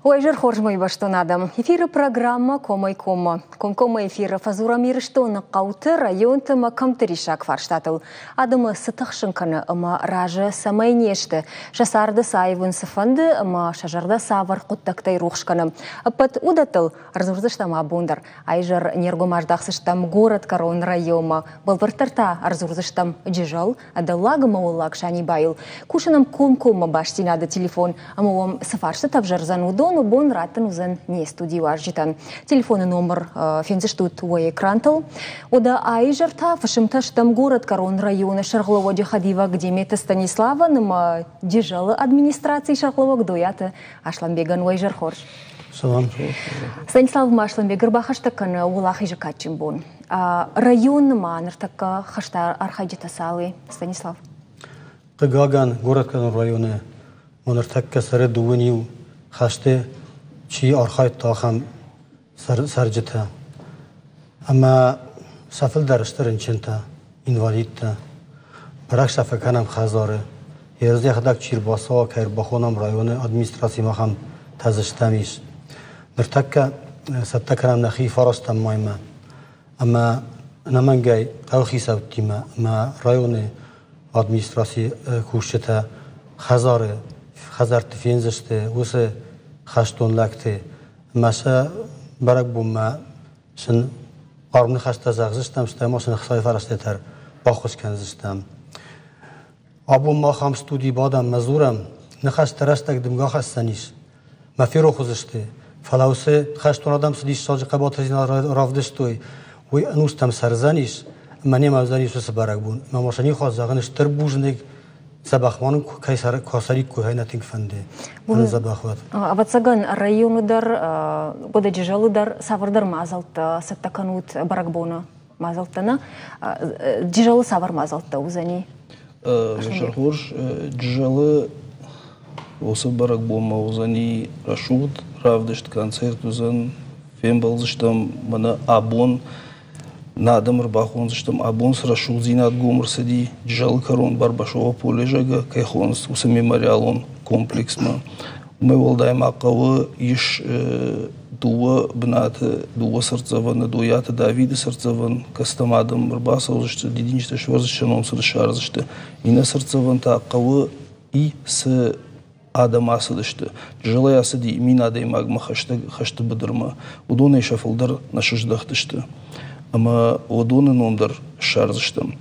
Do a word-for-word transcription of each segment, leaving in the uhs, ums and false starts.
Уӕ хорз, мӕ бӕстон адӕм. Эфиры программа «Комӕй-коммӕ». Комкоммӕ эфиры фӕдзурӕм Ирыстоны хъӕуты, районты ӕмӕ кӕмтты риссаг фарстатыл. Адӕмы цы тыхсын кӕны ӕмӕ разы цӕмӕй не сты, сӕ царды цы аивын цы фӕнды ӕмӕ сӕ зӕрдӕ цавӕр хъуыддӕгтӕй рухс кӕны. Ӕппӕт уыдӕттыл ӕрдзурдзыстӕм абон дӕр. Айзӕр не ргом аздахдзыстӕм Горӕтгӕрон районмӕ. Бӕлвырддӕр та ӕрдзурдзыстӕм Джызӕл, Дӕллаг ӕмӕ Уӕллаг Санибайыл. Кусы нӕм комкоммӕ бастдзинады телефон, ӕмӕ уӕм цы фарстытӕ ӕвзӕрдзӕн, уыдон бон раттын уыдзӕн не студийы уазджытӕн. Телефоны номыр фендзыстут уӕ экрантыл. Уӕдӕ айзӕр та фысымтӕ стӕм Горӕтгӕрон районы сӕргълӕууӕджы хӕдивӕг Деметы Станиславӕн ӕмӕ Джызӕлы администрацийы сӕргълӕууӕг Дойаты Асланбегӕн. Уӕ изӕр хорз. Салам. Станислав Асланбег, ӕрбахӕстӕг кӕны Уӕлахизы кадджын бон. Районы ма ныртӕккӕ хӕсты архайджытӕ цал и, Станислав? Хъыгагӕн, Горӕтгӕрон районы ма ныртӕккӕ цӕры дыууын иу хӕсты чи архайдта, ахӕм цӕрджытӕ. Ӕмӕ сӕ фылдӕр сты рынчынтӕ, инвалидтӕ. Бӕрӕг сӕ фӕкӕнӕм хӕдзары. Йе йӕхӕдӕг чи ӕрбацӕуа, кӕй ӕрбахонӕм районы администрацимӕ, ахӕм тӕ ис. Ныртӕккӕ цӕттӕ кӕнӕм нӕхи фарӕстӕм маймӕ. Ӕмӕ ӕнӕмӕнгӕй хъӕуыхицӕуттимӕ ӕмӕ районы администрацийы кусджытӕ хӕдзары хӕдзӕртты фендзысты уыцы хӕстон лӕгты ӕмӕ сӕ бӕрӕгбонмӕ сын хъарм ныхӕстӕ зӕгъдзыстӕм, стӕй ма сын ӕхцайы фӕрӕзтӕ дӕр баххуыс кӕндзыстӕм. Абон мах ам студийы бадӕм ӕмӕ дзурӕм, ныхӕстӕ рӕстӕг дымгӕ ахӕссӕн ис, мӕ ферох уыдзысты, фӕлӕ уыцы хӕстон адӕм цы диссаджы хъӕбатырдзинад равдыстой, уый ӕнустӕм цӕрдзӕнис ӕмӕ немӕ уыдзӕнис уыцы бӕрӕгбон. Ӕмӕ ма сӕ никуы зӕгъын стыр бузныг, дзӕбӕх ма нын кӕй цӕриккой, нӕ тынг фӕнды. Дзӕбӕх уӕд. Ӕвӕццӕгӕн, районы дӕр, Года Джызӕлы дӕр цавӕрдӕр мадзӕлттӕ цӕттӕ кӕнут бӕрӕгбоны мадзӕлттӕ, нӕ? Джызӕлы цавӕр мадзӕлттӕ уыдзӕни? Хорз, Джызӕлы уыцы бӕрӕгбонмӕ уыдзӕни рӕсугъд равдыст, концерт уыдзӕн, фембӕлдзыстӕм мӕнӕ абон нӕ адӕм ӕрбахондзыстӕм, абон цы рӕсугъддзинад гом ӕрцыди Джызӕлы кӕрон Барбашова поле, зӕгъгӕ, кӕй хонынц, уыцы мемориалон комплексмӕ. Уымӕй уӕлдай ма хъӕуы ис дыууӕ бынаты, дыууӕ цыртдзӕвӕны, Дойаты Давиды цыртдзӕвӕн, кӕцытӕм адӕм ӕрбацӕудзысты, дидинджытӕ сӕвӕрдзысты, ном сын ссардзысты. Иннӕ цыртдзӕвӕн та хъӕуы и цы адӕм ацыдысты. Джызӕлӕй ацыди мин адӕймагмӕ хӕстӕг хӕсты быдырмӕ. Уыдонӕй сӕ фылдӕр нӕ сыздӕхтысты. Ӕмӕ уыдоны ном дӕр ссардзыстӕм.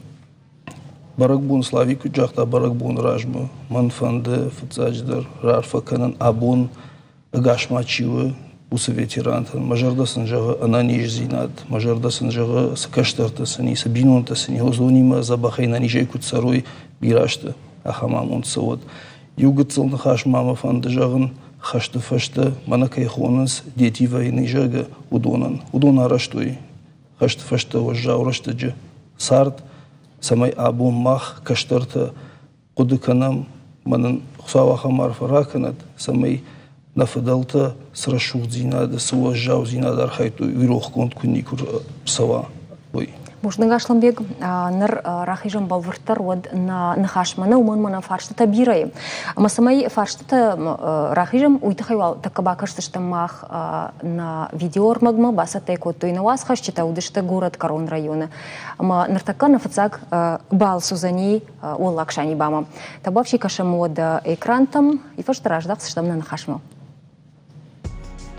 Бӕрӕгбон, Славик куыд загъта, бӕрӕгбоны размӕ мӕн фӕнды фыццаджыдӕр раарфӕ кӕнын абон ӕгас ма чи у, уыцы ветерантӕн. Мӕ зӕрдӕ сын зӕгъы ӕнӕниздзинад, мӕ зӕрдӕ сын зӕгъы, цы кӕстӕртӕ сын и, цы бинонтӕ сын и, уыдонимӕ дзӕбӕхӕй ӕнӕнизӕй куыд цӕрой, бирӕ азты ахӕм амонд цӕуӕд. Иу гыццыл ныхас ма мӕ фӕнды зӕгъын хӕсты фӕстӕ, мӕнӕ кӕй хонынц дети войны, зӕгъгӕ, уыдонӕн. Уыдон арӕзтой хӕсты фӕстӕ уӕззау рӕстӕджы цард, цӕмӕй абон мах, кӕстӕртӕ, хъуыды кӕнӕм, мӕ нын Хуыцау ахӕм арфӕ ракӕнӕд, цӕмӕй нӕ фыдӕлтӕ цы рӕсугъддзинады, цы уӕззаудзинад архайдтой, уый рохгонд куы никуы рцӕуа, уый. Бузныг, Асланбег. Ныр рахизӕм бӕлвырддӕр уӕд нӕ ныхасмӕ, нӕ уымӕн мӕнӕ фарстытӕ бирӕ и. Ӕмӕ цӕмӕй фарстытӕ рахизӕм, уый тыххӕй уал тӕккӕ бакӕсдзыстӕм мах нӕ видеоӕрмӕгмӕ, бацӕттӕ кодтой нӕ уацхӕсджытӕ, уыдысты Горӕтгӕрон районы. Ӕмӕ ныртӕккӕ нӕ фыццаг балц уыдзӕни Уӕллаг Санибамӕ. Табуафси, кӕсӕм уӕдӕ экрантӕм, и фӕстӕ раздӕхдзыстӕм нӕ ныхасмӕ.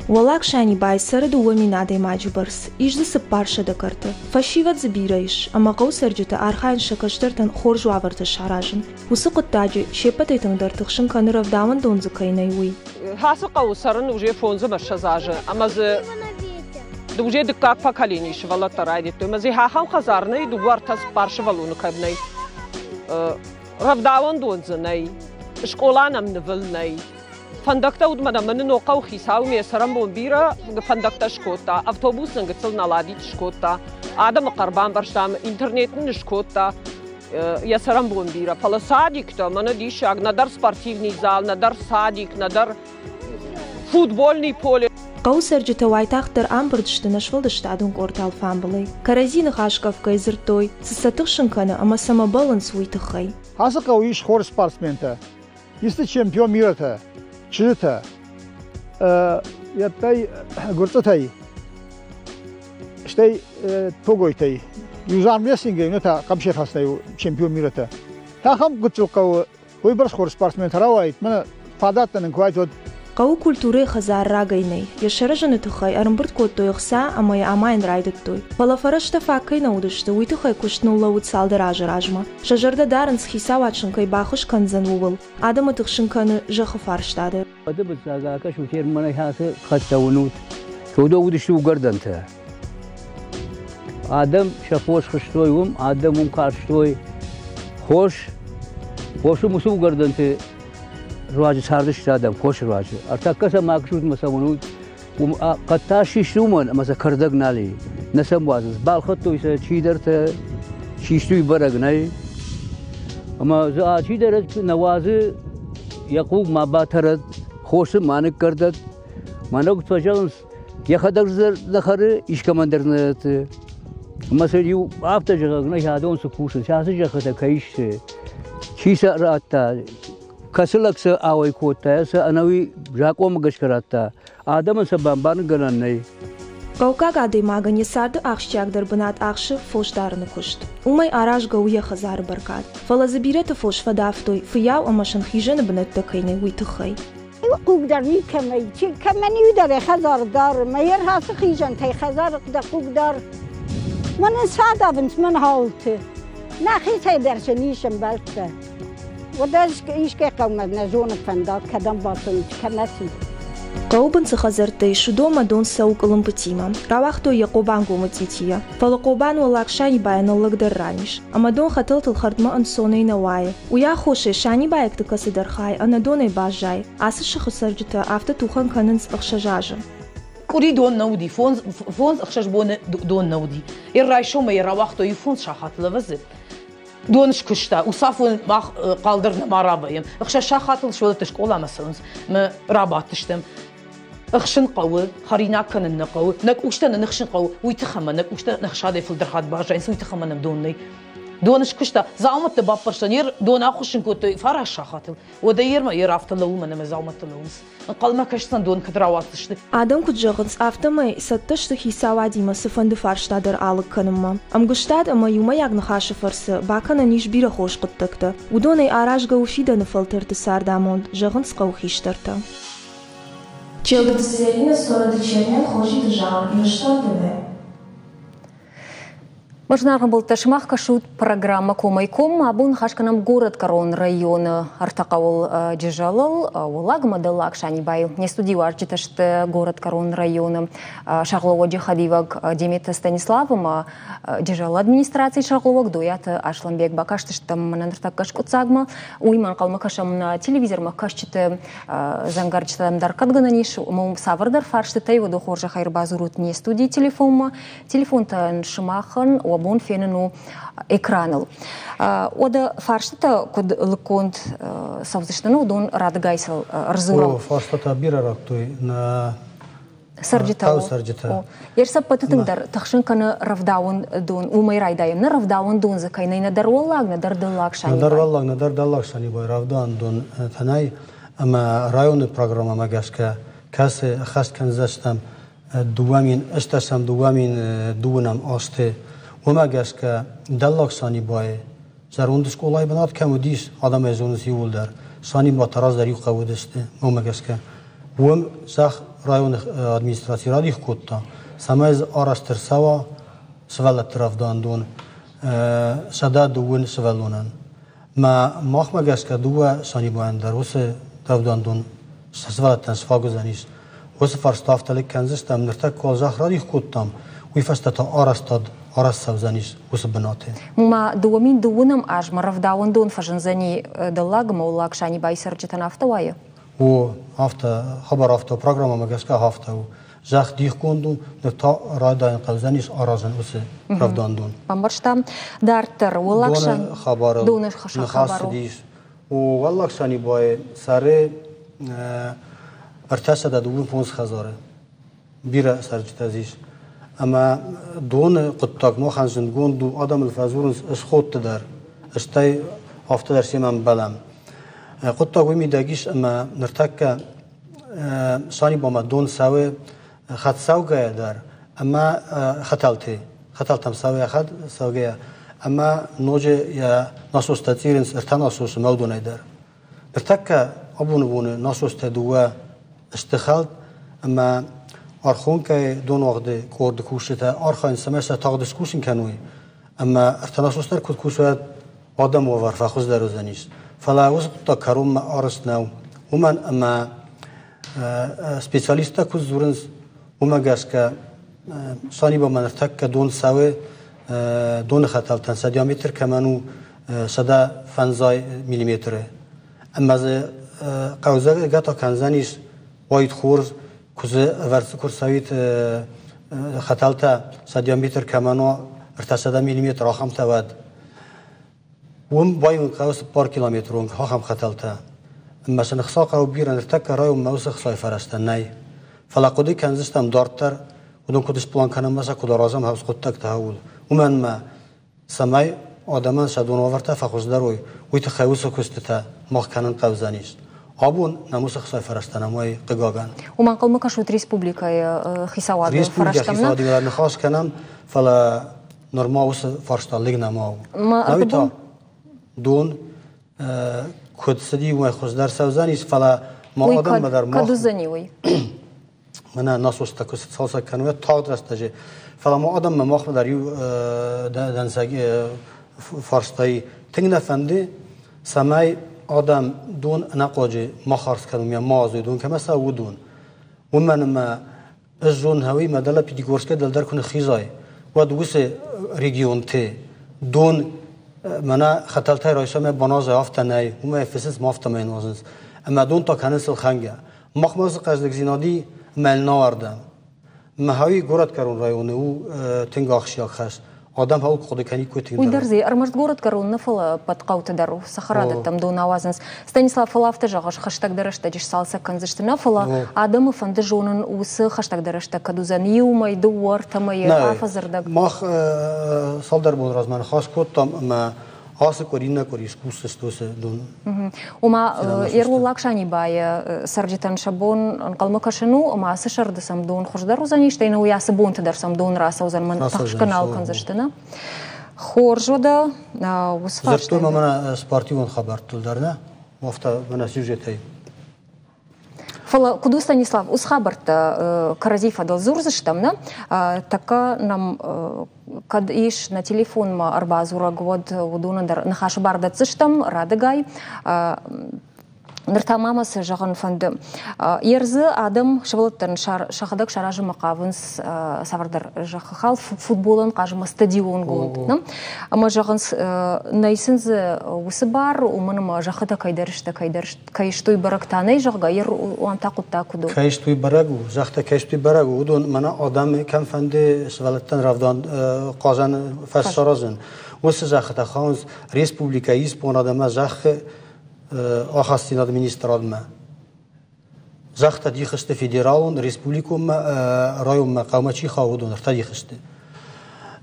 Уӕллаг Санибайы цӕры дыууӕ мин адӕймаджы бӕрц, ис дзы цыппар сӕдӕ кӕрты. Фӕсивӕд дзы бирӕ ис, ӕмӕ хъӕуы цӕрджытӕ архайынц сӕ кӕстӕртӕн хорз уавӕртӕ саразын. Уыцы хъуыддаджы се ппӕтӕй тынгдӕр тыхсын кӕны, рӕвдауӕндон дзы кӕй нӕй, уый. Ацы хъӕуы цӕрын уже фондз ӕмӕ ссӕдз азы, ӕмӕ дзы уже дыккаг поколение сывӕллӕттӕ райдыдтой. Ӕмӕ дзы ахӕм хӕдзар нӕй, дыууӕ, ӕртӕ, цыппар сывӕллоны кӕм нӕй. Рӕвдауӕндон дзы нӕй, скъола нӕм нывыл нӕй. Фӕндӕгтӕ уыд мӕнӕ мӕны ног хъӕуы хицау ме цӕрӕнбон бирӕ фӕндӕгтӕ скодта, автобус нын гыццыл наладит скодта, адӕмы хъӕр бамбӕрстам, интернет нын скодта, йӕ цӕрӕнбон бирӕ. Фӕлӕ садиктӕ, мӕнӕ диссаг, нӕдӕр спортивный зал, нӕдӕр садик, нӕдӕр футбольный поле. Хъӕуы цӕрджытӕ уайтагъддӕр амбырд сты нӕ сфӕлдыстадон къорды алфамбылай. Кӕрӕдзи ныхасгӕфгӕй дзырдтой, цы сӕ тыхсын кӕны ӕмӕ цӕмӕ бӕллынц, уый тыххӕй. Ацы хъӕуы ис хорз спортсментӕ, ис дзы чемпион мирӕтӕ, чызджытӕ. йӕттӕй Гуырцъытӕй, стӕй Тогойтӕй. Иу армрестлингӕй, иннӕ та хъӕбысӕйхӕцынӕй чемпион мирӕтӕ. Ахӕм гыццыл хъӕуы уыйбӕрц хорз спортсментӕ рауаид, мӕнӕ фадӕттӕ нын куы уайд, уӕд. Хъӕуы культурӕйы хӕдзар рагӕй нӕй. Йӕ саразыны тыххӕй ӕрӕмбырд кодтой ӕхца ӕмӕ йӕ амайын райдыдтой. Фӕлӕ фӕрӕзтӕ фаг кӕй нӕ уыдысты, уый тыххӕй куыст ныллӕууыд цалдӕр азы размӕ. Сӕ зӕрдӕ дарынц, хицауад сын кӕй баххуыс кӕндзӕн, ууыл. Адӕмы тыхсын кӕны зӕххы фарста дӕр. Фыццаг акӕсут мӕнӕ ацы хӕдтӕ уынут. Уыдон уыдысты уыгӕрдӕнтӕ. Адӕм сӕ фос хызтой уым, адӕм уым карстой хос. Хосы уыцы уыгӕрдӕнты руаджы цардысты адӕм, хосы руаджы. Ӕртӕккӕ сӕм акӕсут ӕмӕ сӕ уынут, уым хъӕдтӕ систы уымӕн, ӕмӕ сӕ кӕрдӕг нал и. Нӕ сӕм уадзынц. Балхӕдтой сӕ чидӕртӕ, систы уый бӕрӕг нӕй. Ӕмӕ дзы алчидӕр нӕ уадзы, йӕ хъуг ма батӕрӕд, хосы ма ныккӕрдӕд. Мӕнӕ куыд фӕзӕгъынц, йӕхӕдӕг дӕр нӕ хӕры, искӕмӕн дӕр нӕ дӕтты. Ӕмӕ сын иу афтӕ зӕгъӕг нӕ адон цы кусынц, ацы зӕххытӕ кӕй сты, чи сӕ радта, кӕцы лӕг сӕ ауӕй кодта, сӕ ӕнӕуи закъонмӕ гӕсгӕ радта, адӕмӕн сӕ бамбарынгӕнӕн нӕй. Хъӕуккаг адӕймагӕн йӕ царды ахсджиагдӕр бынат ахсы фосдарыны куыст. Уымӕй аразгӕ у йӕ хӕдзары бӕркад. Фӕлӕ дзы бирӕты фос фӕдавтой, фыййау ӕмӕ сын хизӕны бынӕттӕ кӕй нӕй, уый тыххӕй. Хъуг дӕр никӕмӕй, чи кӕмӕн иу дӕр йӕ хӕдзары дары, мӕ йе рхӕцы хизӕнтӕй хӕдзары дӕ хъуг дӕр. Мӕнӕн цы адавынц мӕн хауылты? Нӕхицӕй дӕр сын ис ӕмбӕлттӕ. Уӕдӕ искӕй хъӕумӕ нӕ зоны фӕндаг, кӕдӕм бацӕуынц, кӕмӕ цы. Хъӕуы бын цы хӕдзӕрттӕ ис, уыдонмӕ дон цӕуы къуылымпытимӕ. Рауагътой йӕ Хъобангомы цъитийӕ. Фӕлӕ Хъобан Уӕллаг Санибайӕ ныллӕгдӕр ран ис. Ӕмӕ дон хӕтӕлтыл хӕрдмӕ ӕнцонӕй нӕ уайы. Уый аххосӕй санибайӕгты кӕцыдӕр хай ӕнӕдонӕй баззайы. Ацы сыхы цӕрджытӕ афтӕ тухӕн кӕнынц ӕхсӕз азы. Къуыри дон нӕ уыди, фондз, фондз ӕхсӕз боны дон нӕ уыди. Йӕ райсомӕй йӕ рауагътой иу фондз сахаты лӕвӕдзы. Дон скуыста, уыцафон мах хъалдӕр нӕма рабайӕм. Ӕхсӕз сахатыл сывӕллӕттӕ скъоламӕ цӕуынц, мӕ рабадтыстӕм. Ӕхсын хъӕуы, хӕринаг кӕнын нӕ хъӕуы, нӕ къустӕ нын ӕхсын хъӕуы, уый тыххӕй ӕмӕ нӕ къустӕ ӕхсадӕй фылдӕр хатт баззайынц, уый тыххӕй ӕмӕ нӕм дон нӕй. Дон скуыста, дзаумӕттӕ баппӕрста, не дон ахуыссын кодтой фараст сахатыл. Уӕдӕ ермӕ йе афтӕ лӕууы, мӕнӕ мӕ дзаумӕттӕ лӕууынц. Ӕнхъӕлмӕ кӕсдзӕн дон кӕд рауадздзысты. Адӕм куыд зӕгъынц, афтӕмӕй цӕттӕ сты хицауадимӕ цыфӕнды фарста дӕр алыг кӕнынмӕ. Ӕмгуыстад ӕмӕ иумӕйаг ныхасы фӕрцы бакӕнӕн ис бирӕ хорз хъуыддӕгтӕ. Уыдонӕй аразгӕ у фидӕны фӕлтӕрты цардамонд, зӕгъынц хъӕуы хистӕртӕ. Челдыты Зӕринӕ, Цорӕты Чермен, Хозиты Зауыр, Ирыстон ТВ. Зынаргъ ӕмбӕлттӕ, сымах кӕсут программӕ «Комӕй коммӕ». Абон ныхас кӕнӕм горӕтгӕрон районы ӕртӕ хъӕуыл Джызӕлыл, Уӕллаг ӕмӕ Дӕллаг Санибайыл. Не студийы уазджытӕ сты горӕтгӕрон районы сӕргълӕууӕджы хӕдивӕг Деметы Станислав ӕмӕ Джызӕлы администрацийы сӕргълӕууӕг Дойаты Аслӕнбег. Бакастыстӕм мӕнӕ ныртӕккӕ скъуыддзагмӕ. Уыимӕ ӕнхъӕлмӕ кӕсӕм нӕ телевизормӕ кӕсджыты дзӕнгӕрджытӕм дӕр кӕд гӕнӕн ис, уым цавӕрдӕр фарстытӕй уыдон хорзӕхӕй ӕрбадзурут не студийы телефонмӕ. Телефонтӕ сымахӕн уӕ бон фенын у экраныл. Уӕдӕ фарстытӕ куыд лыггонд цӕудзысты, уыдон радыгай сыл ӕрдзурӕм. О, фарстатӕ бирӕ радтой нӕ цӕрджытӕ. Хъӕуы цӕрджытӕ. Йе сӕппӕты тынгдӕр тыхсын кӕны рӕвдауӕндон. Уымӕй райдайӕм. Нӕ рӕвдауӕндон дзы кӕй нӕй нӕдӕр уӕллаг, нӕдӕр дӕллаг Санибай. Нӕдӕр уӕллаг, нӕдӕр дӕллаг Санибай рӕвдауӕндон тӕнӕй ӕмӕ районы программӕмӕ гӕсгӕ, кӕцы ӕххӕст кӕндзыстӕм дыууӕ мин ӕстдӕсӕм, дыууӕ мин дыууынӕм азты, уымӕ гӕсгӕ дӕллаг Санибайы зӕронд скъолайы бынат кӕм уыдис, адӕм ӕй зонынц иууылдӕр. Саниба раздӕр иу хъӕу уыдысты, уымӕ гӕсгӕ. Уым зӕхх районы администраци радих кодта, цӕмӕй дзы арӕзт ӕрцӕуа сывӕллӕтты рӕвдауӕндон сӕдӕ дыууын сывӕллонӕн. Мӕ махмӕ гӕсгӕ дыууӕ Санибайӕн дӕр уыцы рӕвдауӕндон сывӕллӕттӕн сфаг уыдзӕнис. Уыцы фарста афтӕ лыг кӕндзыстӕм, ныртӕккӕ уал зӕхх радих кодтам, уый фӕстӕ та арӕзтад арӕзт цӕудзӕнис уыцы бынаты. Ма дыууӕ мин дыууынӕм азмӕ рӕвдауӕндон фӕзындзӕни дӕллаг ӕмӕ уӕллаг Санибайы цӕрджытӕн, афтӕ уайы? О, афтӕ, хабар афтӕ, программӕмӕ гӕсгӕ афтӕ у. Зӕхх дихгонд у, ныр та райдайын хъӕудзӕнис аразын уыцы рӕвдауӕндон. Бамбӕрстам. Дарддӕр уӕллаг Доны хабарыл доны ныхас цыдис. О, Уӕллаг Санибайы цӕры ӕртӕсӕдӕ дыууын фондз хӕдзары. Бирӕ цӕрджытӕ дзы ис. Ӕмӕ доны хъуыддаг махӕн зындгонд у, адӕмыл фӕдзурынц ысходты дӕр, стӕй афтӕ дӕр семӕ ӕмбӕлӕм. Хъуыддаг уый мидӕг ис, ӕмӕ ныртӕккӕ Санибамӕ дон цӕуы хӕдцӕугӕйӕ дӕр ӕмӕ хӕтӕлты, хӕтӕлтӕм цӕуы хӕдцӕугӕйӕ ӕмӕ ноджы йӕ насостӕ цъирынц ӕртӕ насосы мӕудонӕй дӕр. Ныртӕккӕ абоны боны насостӕ дыууӕ сты хӕлд ӕмӕ Архонкӕйы донуагъды къорды кусджытӕ архайынц, цӕмӕй сӕ тагъд скусын кӕной ӕмӕ ӕртӕ насос дӕр куыд кусой, адӕмы уавӕр фӕхуыздӕр уыдзӕнис. Фӕлӕ уыцы хъуыддаг кӕронмӕ арӕзт нӕу, уымӕн ӕмӕ специалисттӕ куыд дзурынц, уымӕ гӕсгӕ Санибамӕ ныртӕккӕ дон цӕуы доны хӕтӕлтӕн сӕ диаметр кӕмӕн у сӕдӕ фӕндзай миллиметры. Ӕмӕ дзы хъӕудзӕгӕ та кӕндзӕнис уаид хорз, куы дзы ӕвӕрд куы рцӕуид хӕтӕлтӕ сӕ диаметр кӕмӕн у ӕртӕсӕдӕ миллиметр, ахӕмтӕ уӕд. Уым баивын хъӕуы цыппар километры онг ахӕм хӕтӕлтӕ. Ӕмӕ сын ӕхца хъӕуы бирӕ, ныртӕккӕ районмӕ уыцы ӕхцайы фӕрӕзтӕ нӕй. Фӕлӕ хъуыды кӕндзыстӕм дарддӕр, уыдон куыд сплан кӕнӕм ӕмӕ сӕ куыд аразӕм хӕрз хъуыддӕгтӕ ууыл. Уымӕн ӕмӕ цӕмӕй адӕмӕн сӕ донуавӕртӕ фӕхуыздӕр уой, уый тыххӕй уыцы куыстытӕ мах кӕнын хъӕудзӕнис. Абон нӕм уыцы ӕхцайы фӕрӕзтӕ нӕм уай, хъыгагӕн. Уымӕ ӕнхъӕлмӕ кӕсут республикӕйы хицауады Республикӕйы фӕрӕзтӕм, нӕ? хицауадимӕ ныхас кӕнӕм, фӕлӕ нырма уыцы фарста лыг нӕма у. Науи та дон куыд цыди, уымӕй хуыздӕр цӕудзӕнис, фӕлӕ ма адӕммӕ дӕр мах... Кӕд уыдзӕни уый? Мӕнӕ насостӕ куы цалцӕг кӕной, тагъд рӕстӕджы. Фӕлӕ ма адӕммӕ махмӕ дӕр иу дӕнцӕг фарстайы тынг нӕ фӕнды, цӕмӕй адӕм дон ӕнӕхъуаджы ма хардз кӕной, ма уадзой дон, кӕмӕ цӕуы, уыдон. Уымӕн ӕмӕ ӕз зонын, хауи мӕ дӕлӕ Пятигорскӕй дӕлдӕр куы ныххизай, уӕд уыцы регионты дон мӕнӕ хӕтӕлтӕй райсомӕ баназай, афтӕ нӕй, уымӕй фыцынц, ма афтӕмӕй нуазынц. Ӕмӕ дон та кӕнынц ӕлхӕнгӕ. Махмӕ уыцы хъӕздыгдзинад и ӕмӕ науӕрдӕм. Мӕ горӕтгӕрон районы у тынг ахсджиаг хӕс. Адӕм хауы хъуыды кӕниккой тынг. Уый дӕр дзы ӕрмӕст горӕтгӕрон нӕ, фӕлӕ ӕппӕт хъӕуты дӕр цӕхӕрадӕттӕм дон ауадзынц. Станислав, фӕлӕ афтӕ зӕгъыс, хӕстӕгдӕр рӕстӕджы сцалцӕг кӕндзысты нӕ, фӕлӕ адӕмы фӕнды зонын, уыцы хӕстӕгдӕр рӕстӕг кӕд уыдзӕн иу мӕй, дыууӕ, ӕртӕ мӕйы, афӕдзы рдӕг. Мах цалдӕр боны размӕ ныхас кодтам ӕмӕ ацы къуыри, иннӕ къуыри скусдзысты уыцы дон. Ома, Ерволлаг Санибайы цӕрджытӕн сӕ бон ӕнхъӕлмӕ кӕсын у, ӕмӕ ацы сӕрды сӕм дон хуыздӕр уыдзӕни, стӕй нӕ уый ацы бонты дӕр сӕм дон рацӕудзӕн, мӕн тыхсгӕ нал кӕндзысты, нӕ? Хорз уӕдӕ, уыцы фарстай. Дзырдтой ма мӕнӕ спортивон хабӕрттыл дӕр, нӕ? Афтӕ мӕнӕ сюжетӕй. Фӕлӕ куыд у, Станислав, уыцы хабӕрттӕ кӕрӕдзи фӕдыл дзурдзыстӕм, нӕ? Тӕккӕ нӕм кӕд ис нӕ телефонмӕ ӕрбадзурӕг, уӕд уыдонӕн дӕр ныхасы бар дӕтдзыстӕм радыгай. Ныр та ма мӕ цы зӕгъын фӕнды. Ердзы адӕм сывӕллӕттӕн сӕхӕдӕг саразынмӕ хъавынц цавӕрдӕр зӕххы хал футболӕн хъазынмӕ стадионгонд. Ӕмӕ зӕгъынц, нӕй сын дзы уыцы бар, уымӕн ӕмӕ зӕххытӕ кӕйдӕр сты, кӕйдӕр кӕй сты, уый бӕрӕг та нӕй, зӕгъгӕ, ер уам та хъуыддаг куыд у? Кӕй сты, уый бӕрӕг у, зӕххытӕ кӕй сты, уый бӕрӕг у. Уыдон мӕнӕ адӕмы кӕм фӕнды сывӕллӕттӕн рӕвдауӕн хъазӕн фӕз саразын. Уыцы зӕххытӕ хауынц республикӕйы исбонад ӕмӕ зӕххы ахастдзинады министрадмӕ. Зӕххытӕ дих сты федералон, республиконмӕ, районмӕ, хъӕумӕ чи хауы, уыдон ӕртӕ дих сты.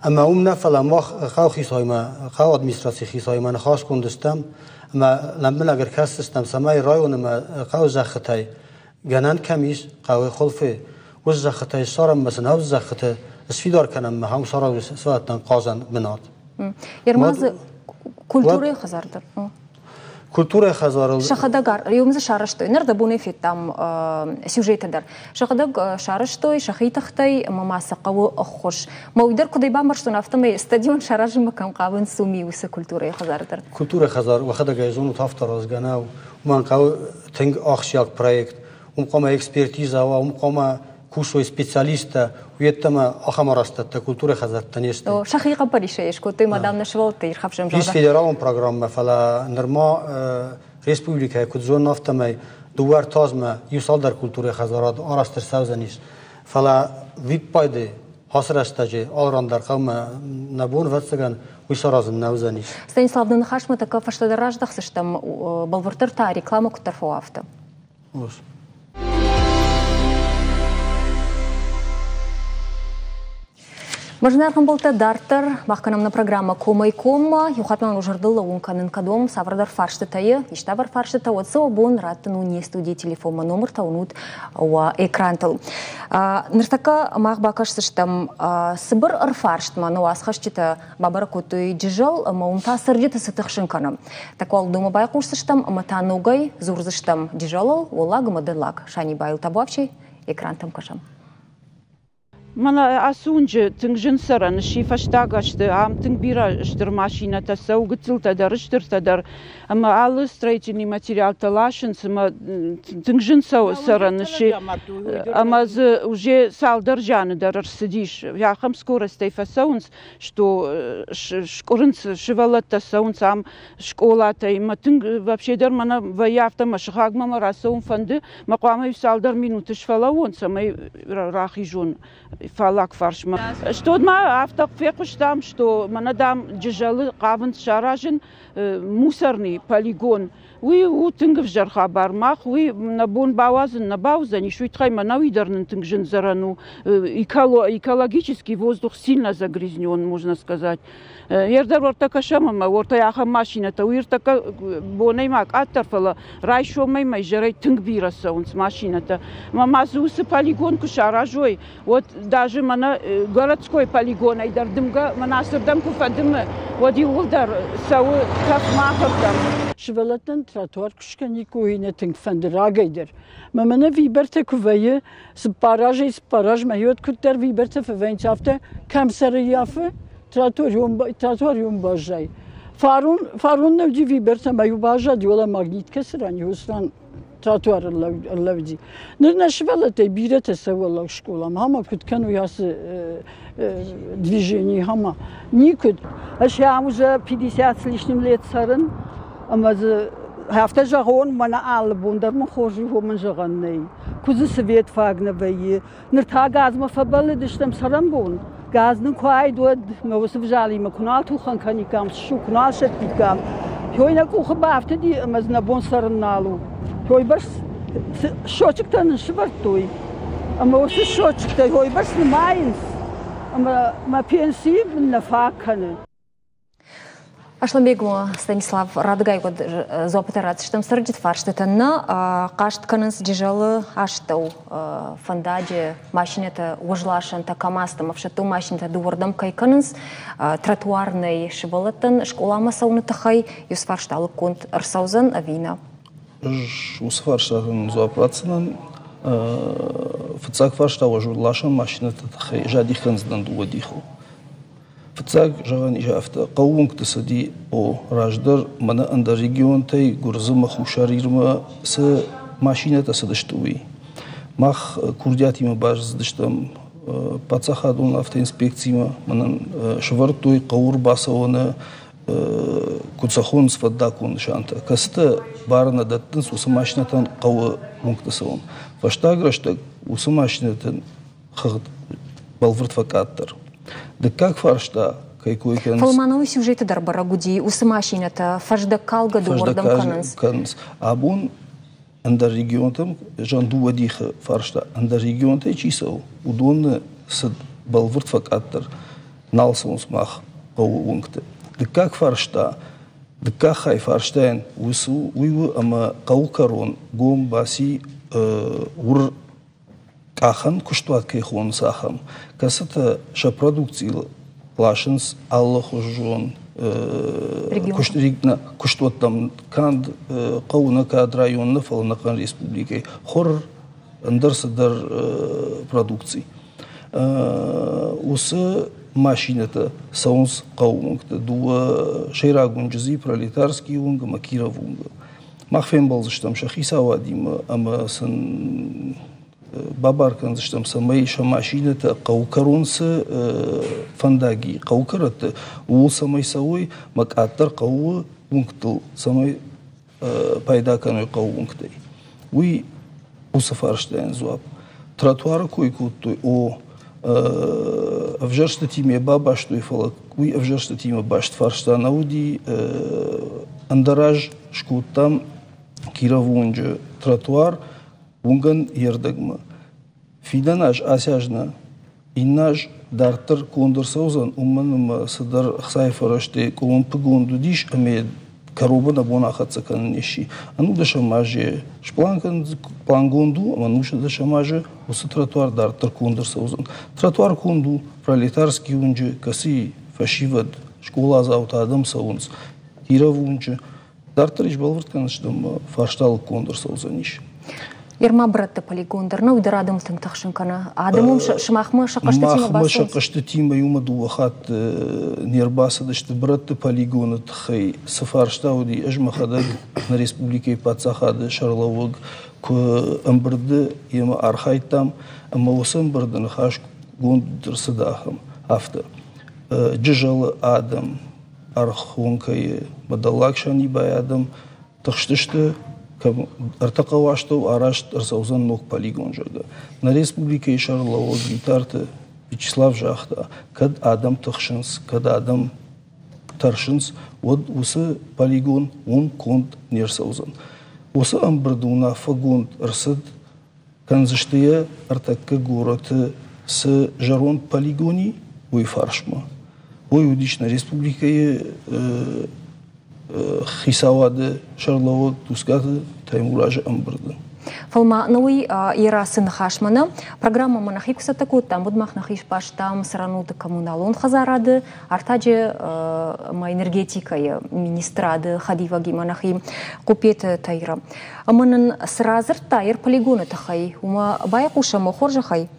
Ӕмӕ уым нӕ, фӕлӕ мах хъӕуы хицауимӕ, хъӕуы администрацийы хицауимӕ ныхасгонд стӕм ӕмӕ лӕмбынӕг ӕркӕсдзыстӕм, цӕмӕй районы ӕмӕ хъӕуы зӕххытӕй гӕнӕн кӕм ис, хъӕуы хуылфы, уыцы зӕххытӕй ссарӕм ӕмӕ сын ӕвз зӕххыты сфидар кӕнӕм ӕмӕ хъӕуы саразӕм сывӕллӕттӕн хъазӕн бынат. Ермазы культурӕйы хӕдзар дӕр. Культурӕйы хӕдзарыл... Сӕхӕдӕг иу дзы сарӕзтой, ныр дӕ бонӕй федтам сюжеты дӕр. Сӕхӕдӕг сарӕзтой сӕхи тыхтӕй ӕмӕ ма сӕ хъӕуы ӕххуыс. Мӕ уый дӕр куыдӕй бамбӕрстон, афтӕмӕй стадион саразынмӕ кӕм хъавынц, уым уыцы культурӕйы хӕдзар дӕр. Культурӕйы хӕдзар, уӕхӕдӕг ӕй зонут, афтӕ аразгӕ нӕу. Уымӕн хъӕуы тынг ахсджиаг проект. Уым хъуамӕ экспертиза уа, уым хъуамӕ кусой специалисттӕ, уйеддӕмӕ ахӕм арӕзтӕдтӕ культурӕйы хӕдзӕрттӕ не сты. Сӕхи хъӕппӕрисӕй скодтой, мадам, нӕ сывӕллӕтты ирхӕфсӕм, Ис федералон программӕ, фӕлӕ нырма республикӕйы куыд зонын, афтӕмӕй дыууӕ ӕртӕ азмӕ иу цалдӕр культурӕйы хӕдзарад арӕзт ӕрцӕудзӕнис. Фӕлӕ виппайды ацы рӕстӕджы алыран дӕр хъӕумӕ нӕ бон, ӕвӕццӕгӕн, уый саразын нӕ уыдзӕнис. Станислав, нӕ ныхасмӕ тӕккӕ фӕстӕдӕр раздӕхдзыстӕм, бӕлвырддӕр та рекламӕ куыддӕр фӕуа, афтӕ. Мӕ зынаргъ дарддӕр мах кӕнӕм нӕ программӕ Комӕй коммӕ. Иу хатт ма уӕ зӕрдыл лӕууын кӕнын, кӕд уӕм цавӕрдӕр фарстытӕ иставӕр фарстытӕ, уӕд сӕ уӕ бон раттын у не студийы телефонмӕ, номыртӕ уынут уӕ экрантыл. Ныртӕккӕ мах бакӕсдзыстӕм цыбыр ӕрфарстмӕ. Нӕ уацхӕсджытӕ бабӕрӕг кодтой Джызӕл ӕмӕ уым та цӕрджыты цы тыхсын кӕны. Тӕккӕ уал уыдонмӕ байхъусдзыстӕм ӕмӕ та ногӕй дзурдзыстӕм Джызӕлыл, Уӕллаг ӕмӕ Дӕллаг Санибайыл. Табуафси, экрантӕм кӕсӕм. Мӕнӕ ацы уынджы тынг зын цӕрӕн сси фӕстаг азты. Ам тынг бирӕ стыр машинӕтӕ цӕуы, гыццылтӕ дӕр, стыртӕ дӕр. Ӕмӕ алы строительный материалтӕ ласынц ӕмӕ тынг зын цӕрӕн сси. Ӕмӕ дзы уже цалдӕр зианы дӕр ӕрцыдис. Ахӕм скоростӕй фӕцӕуынц, что скъуырынц, сывӕллӕттӕ цӕуынц ам скъолатӕй. Мӕ тынг вообще дӕр мӕнӕ вӕййы афтӕ, мӕ сыхагмӕ мӕ рацӕуын фӕнды, мӕ хъуамӕ иу цалдӕр минуты сфӕлӕууон, цӕмӕй рахизон фаллаг фарсмӕ. Стод ма афтӕ фехъуыстам, что мӕнӕ, дам, Джызӕлы хъавынц саразын мусорный полигон. Уый у тынг ӕвзӕр хабар. Мах уый нӕ бон бауадзын нӕ бауыдзӕнис, уый тыххӕй мӕнӕ уый дӕр нын тынг зын цӕрӕн у. Экологический воздух сильно загрязнен, можно сказать. Ердӕр уӕртӕ кӕсӕм ӕмӕ уӕртӕ ахӕм машинӕтӕ, уый ӕртӕккӕ бонӕй ма къаддӕр, фӕлӕ райсомӕй ма изӕрӕй тынг бирӕ цӕуынц машинӕтӕ. Ӕмӕ ма дзы уыцы полигон куы саразой, уӕд даже мӕнӕ городской полигонӕй дӕр дымгӕ мӕнӕ ацырдӕм куы фӕдымы, уӕд иууылдӕр цӕуы тӕф махырдӕм. Сывӕллӕттӕн тротуар куы скӕниккой, нӕ тынг фӕнды рагӕй дӕр. Мӕ мӕнӕ вибертӕ куы вӕййы, цыппар азӕй цыппар азмӕ, уӕд куыддӕр вибертӕ фӕвӕййынц, афтӕ кӕм сӕрыййафы, тротуар баззайы. Фарон, фарон нӕ уыди вибертӕ, ӕмӕ иу баззади, уӕлӕ магнит кӕцы ран, уыцы ран тротуар ӕрлӕууыди. Ныр нӕ сывӕллӕттӕй бирӕтӕ цӕуы скъоламӕ, ӕмӕ куыд кӕной ацы движение, ӕмӕ никуыд. Ӕз ам уже пятьдесят с лишним лет цӕрын, ӕмӕ дзы афтӕ зӕгъон, мӕнӕ алы бон дӕр мын хорз у, мын зӕгъӕн нӕй. Куы дзы свет фаг нӕ вӕййы. Ныр та газмӕ фӕбӕллыдыстӕм цӕрӕнбон. Газ нын куы уаид, уӕд мӕ уыцы взалимӕ куы нал тухӕн кӕниккам, ссу куы нал сӕттиккам. Той нӕ къухы бафтыди ӕмӕ дзы нӕ бон цӕрын нал у. Той бӕрц счетчиктӕ нын сывӕрдтой. Ӕмӕ уыцы счетчиктӕ той бӕрц нымайынц, ӕмӕ мӕ пенси мын нӕ фаг кӕны. Асланбег, Станислав, радыгай уӕд дзуаппытӕ ратдзыстӕм цӕрджыты фарстытӕн. Нӕ хъаст кӕнынц Джызӕлы астӕу фӕндаджы машинӕтӕ, уӕзласӕнтӕ, КАМАЗтӕ ӕмӕ ӕфсӕддон машинӕтӕ дыууӕрдӕм кӕй кӕнынц, тротуар нӕй сывӕллӕттӕн скъоламӕ цӕуыны тыххӕй. Уыцы фарста лыггонд ӕрцӕудзӕн ӕви нӕ? Ӕз уыцы фарстатӕн дзуапп ратдзынӕн. Фыццаг фарста уӕзласӕн машинӕты тыххӕй ӕз адих кӕндзынӕн дыууӕ дихыл. Фыццаг зӕгъӕн ис афтӕ, хъӕууынгты цыди, о, раздӕр мӕнӕ ӕндӕр регионтӕй Гуырдзымӕ, Хуссар Ирмӕ цы машинӕтӕ цыдысты, уый. Мах курдиатимӕ базыдыстӕм паддзахадон автоинспекциимӕ, мӕнӕн сӕвӕрдтой хъӕуы ӕрбацӕуӕны, куыд сӕ хонынц, фӕндаггон нысантӕ, кӕцытӕ бар нӕ дӕттынц уыцы машинӕтӕн хъӕуы уынгты цӕуын. Фӕстаг рӕстӕг уыцы машинӕтӕн хыгъд бӕлвырд фӕкъаддӕр. Дыккаг фарста, кӕй кой кӕнынц. Фӕлӕ ма науы сюжеты дӕр бӕрӕг уыди, уыцы машинӕтӕ фӕздӕг калгӕ дыууӕрдӕм кӕнынц. Кӕнынц. Абон ӕндӕр регионтӕм, зӕгъӕм, дыууӕ дихы фарста, ӕндӕр регионтӕй чи цӕуы, уыдоны цыд бӕлвырд фӕкъаддӕр, нал цӕуынц мах хъӕуы уынгты. Дыккаг фарста, дыккаг хай фарстайӕн уыцы уый у, ӕмӕ хъӕуы кӕрон гом баци уыр къахӕн куыстуат кӕй хонынц, ахӕм, кӕцытӕ сӕ продукцийыл ласынц алыхуызон куыстуӕттӕм, канд хъӕуы нӕ, канд район нӕ, фӕлӕ ӕнӕхъӕн республикӕйы хур, ӕндӕр цыдӕр продукци. Уыцы машинӕтӕ цӕуынц хъӕуы уынгты, дыууӕ сӕйраг уынджы дзы Пролетарский уынг ӕмӕ Кировы уынгы. Мах фембӕлдзыстӕм сӕ хицауадимӕ ӕмӕ сын бабар кӕндзыстӕм, цӕмӕй сӕ машинӕтӕ хъӕуы кӕрон цы фӕндаг и, хъӕуы кӕрӕтты, ууыл цӕмӕй цӕуой, мӕ къаддӕр хъӕуы уынгтыл цӕмӕй пайда кӕной хъӕуы уынгтӕй. Уый уыцы фарстайӕн дзуапп. Тротуары кой кодтой, о, ӕвзӕрстытимӕ бабастой, фӕлӕ уый ӕвзӕрстытимӕ баст фарста нӕ уыди. Ӕндӕр аз скодтам Кировы уынджы тротуар уынгӕн йе рдӕгмӕ. Фидӕн аз, ацы аз нӕ, Иннӕ аз дарддӕр конд ӕрцӕудзӕн, уымӕн ӕмӕ цыдӕр ӕхцайы фӕрӕзтӕй къуылымпыгонд уыдис ӕмӕ кӕронмӕ нӕ бон ахӕццӕ кӕнын не сси. Ӕнудӕсӕм азы сплан плангонд у, ӕмӕ ӕнусдӕсӕм азы уыцы тротуар дарддӕр конд ӕрцӕудзӕн. Тротуар конд у Пролетарский уынджы, кӕцыйы фӕсивӕд, скъоладзаутӕ адӕм цӕуынц Кировы уынджы. Дарддӕр ис бӕлвырд кӕндзыстӕм, фарста лыггонд ӕрцӕудзӕнис. Ерма брӕтты полигон дӕр нӕу дӕр адӕмы тынг тыхсын кӕны. Адӕм уым сымахмӕ сӕ хъӕстытимӕ Махмӕ сӕ хъӕстытимӕ иумӕ дыууӕ хатты не рбацыдысты брӕтты полигоны тыххӕй цы фарста уыди, ӕз мӕхӕдӕг нӕ республикӕйы паддзахады сӕргълӕууӕг куы ӕмбырды йемӕ архайдтам, ӕмӕ уыцы ӕмбырды ныхасгонд ӕрцыд ахӕм афтӕ. Джызӕлы адӕм, Ӕрхонкӕйы Дӕллаг Санибайы адӕм тыхстысты, ӕртӕ хъӕуы астӕу арӕзт ӕрцӕудзӕн ног полигон, зӕгъгӕ. Нӕ республикӕйы сӕргълӕууӕг Битарты Вячеслав загъта, кӕд адӕм тыхсынц, кӕд адӕм тӕрсынц, уӕд уыцы полигон уым конд не рцӕудзӕн. Уыцы ӕмбырды уынаффӕгонд ӕрцыд, кӕндзысты йӕ ӕртӕккӕ горӕты цы зӕронд полигон и, уый фарсмӕ. Уый уыдис нӕ республикӕйы хицауады сӕргълӕууӕг Тускъаты Таймуразы ӕмбырды. Фӕлӕ ма науи йӕ рацы ныхасмӕ нӕ программӕмӕ нӕхи куы цӕттӕ кодтам, уӕд мах нӕхи сбастам цӕрӕнуты коммуналон хӕдзарады, артаджы ӕмӕ энергетикӕйы министрады хӕдивӕгимӕ нӕхи Хъупеты Таира. Ӕмӕ нын цы радзырдта йӕ полигоны тыххӕй, уымӕ байхъусӕм хорзӕхӕй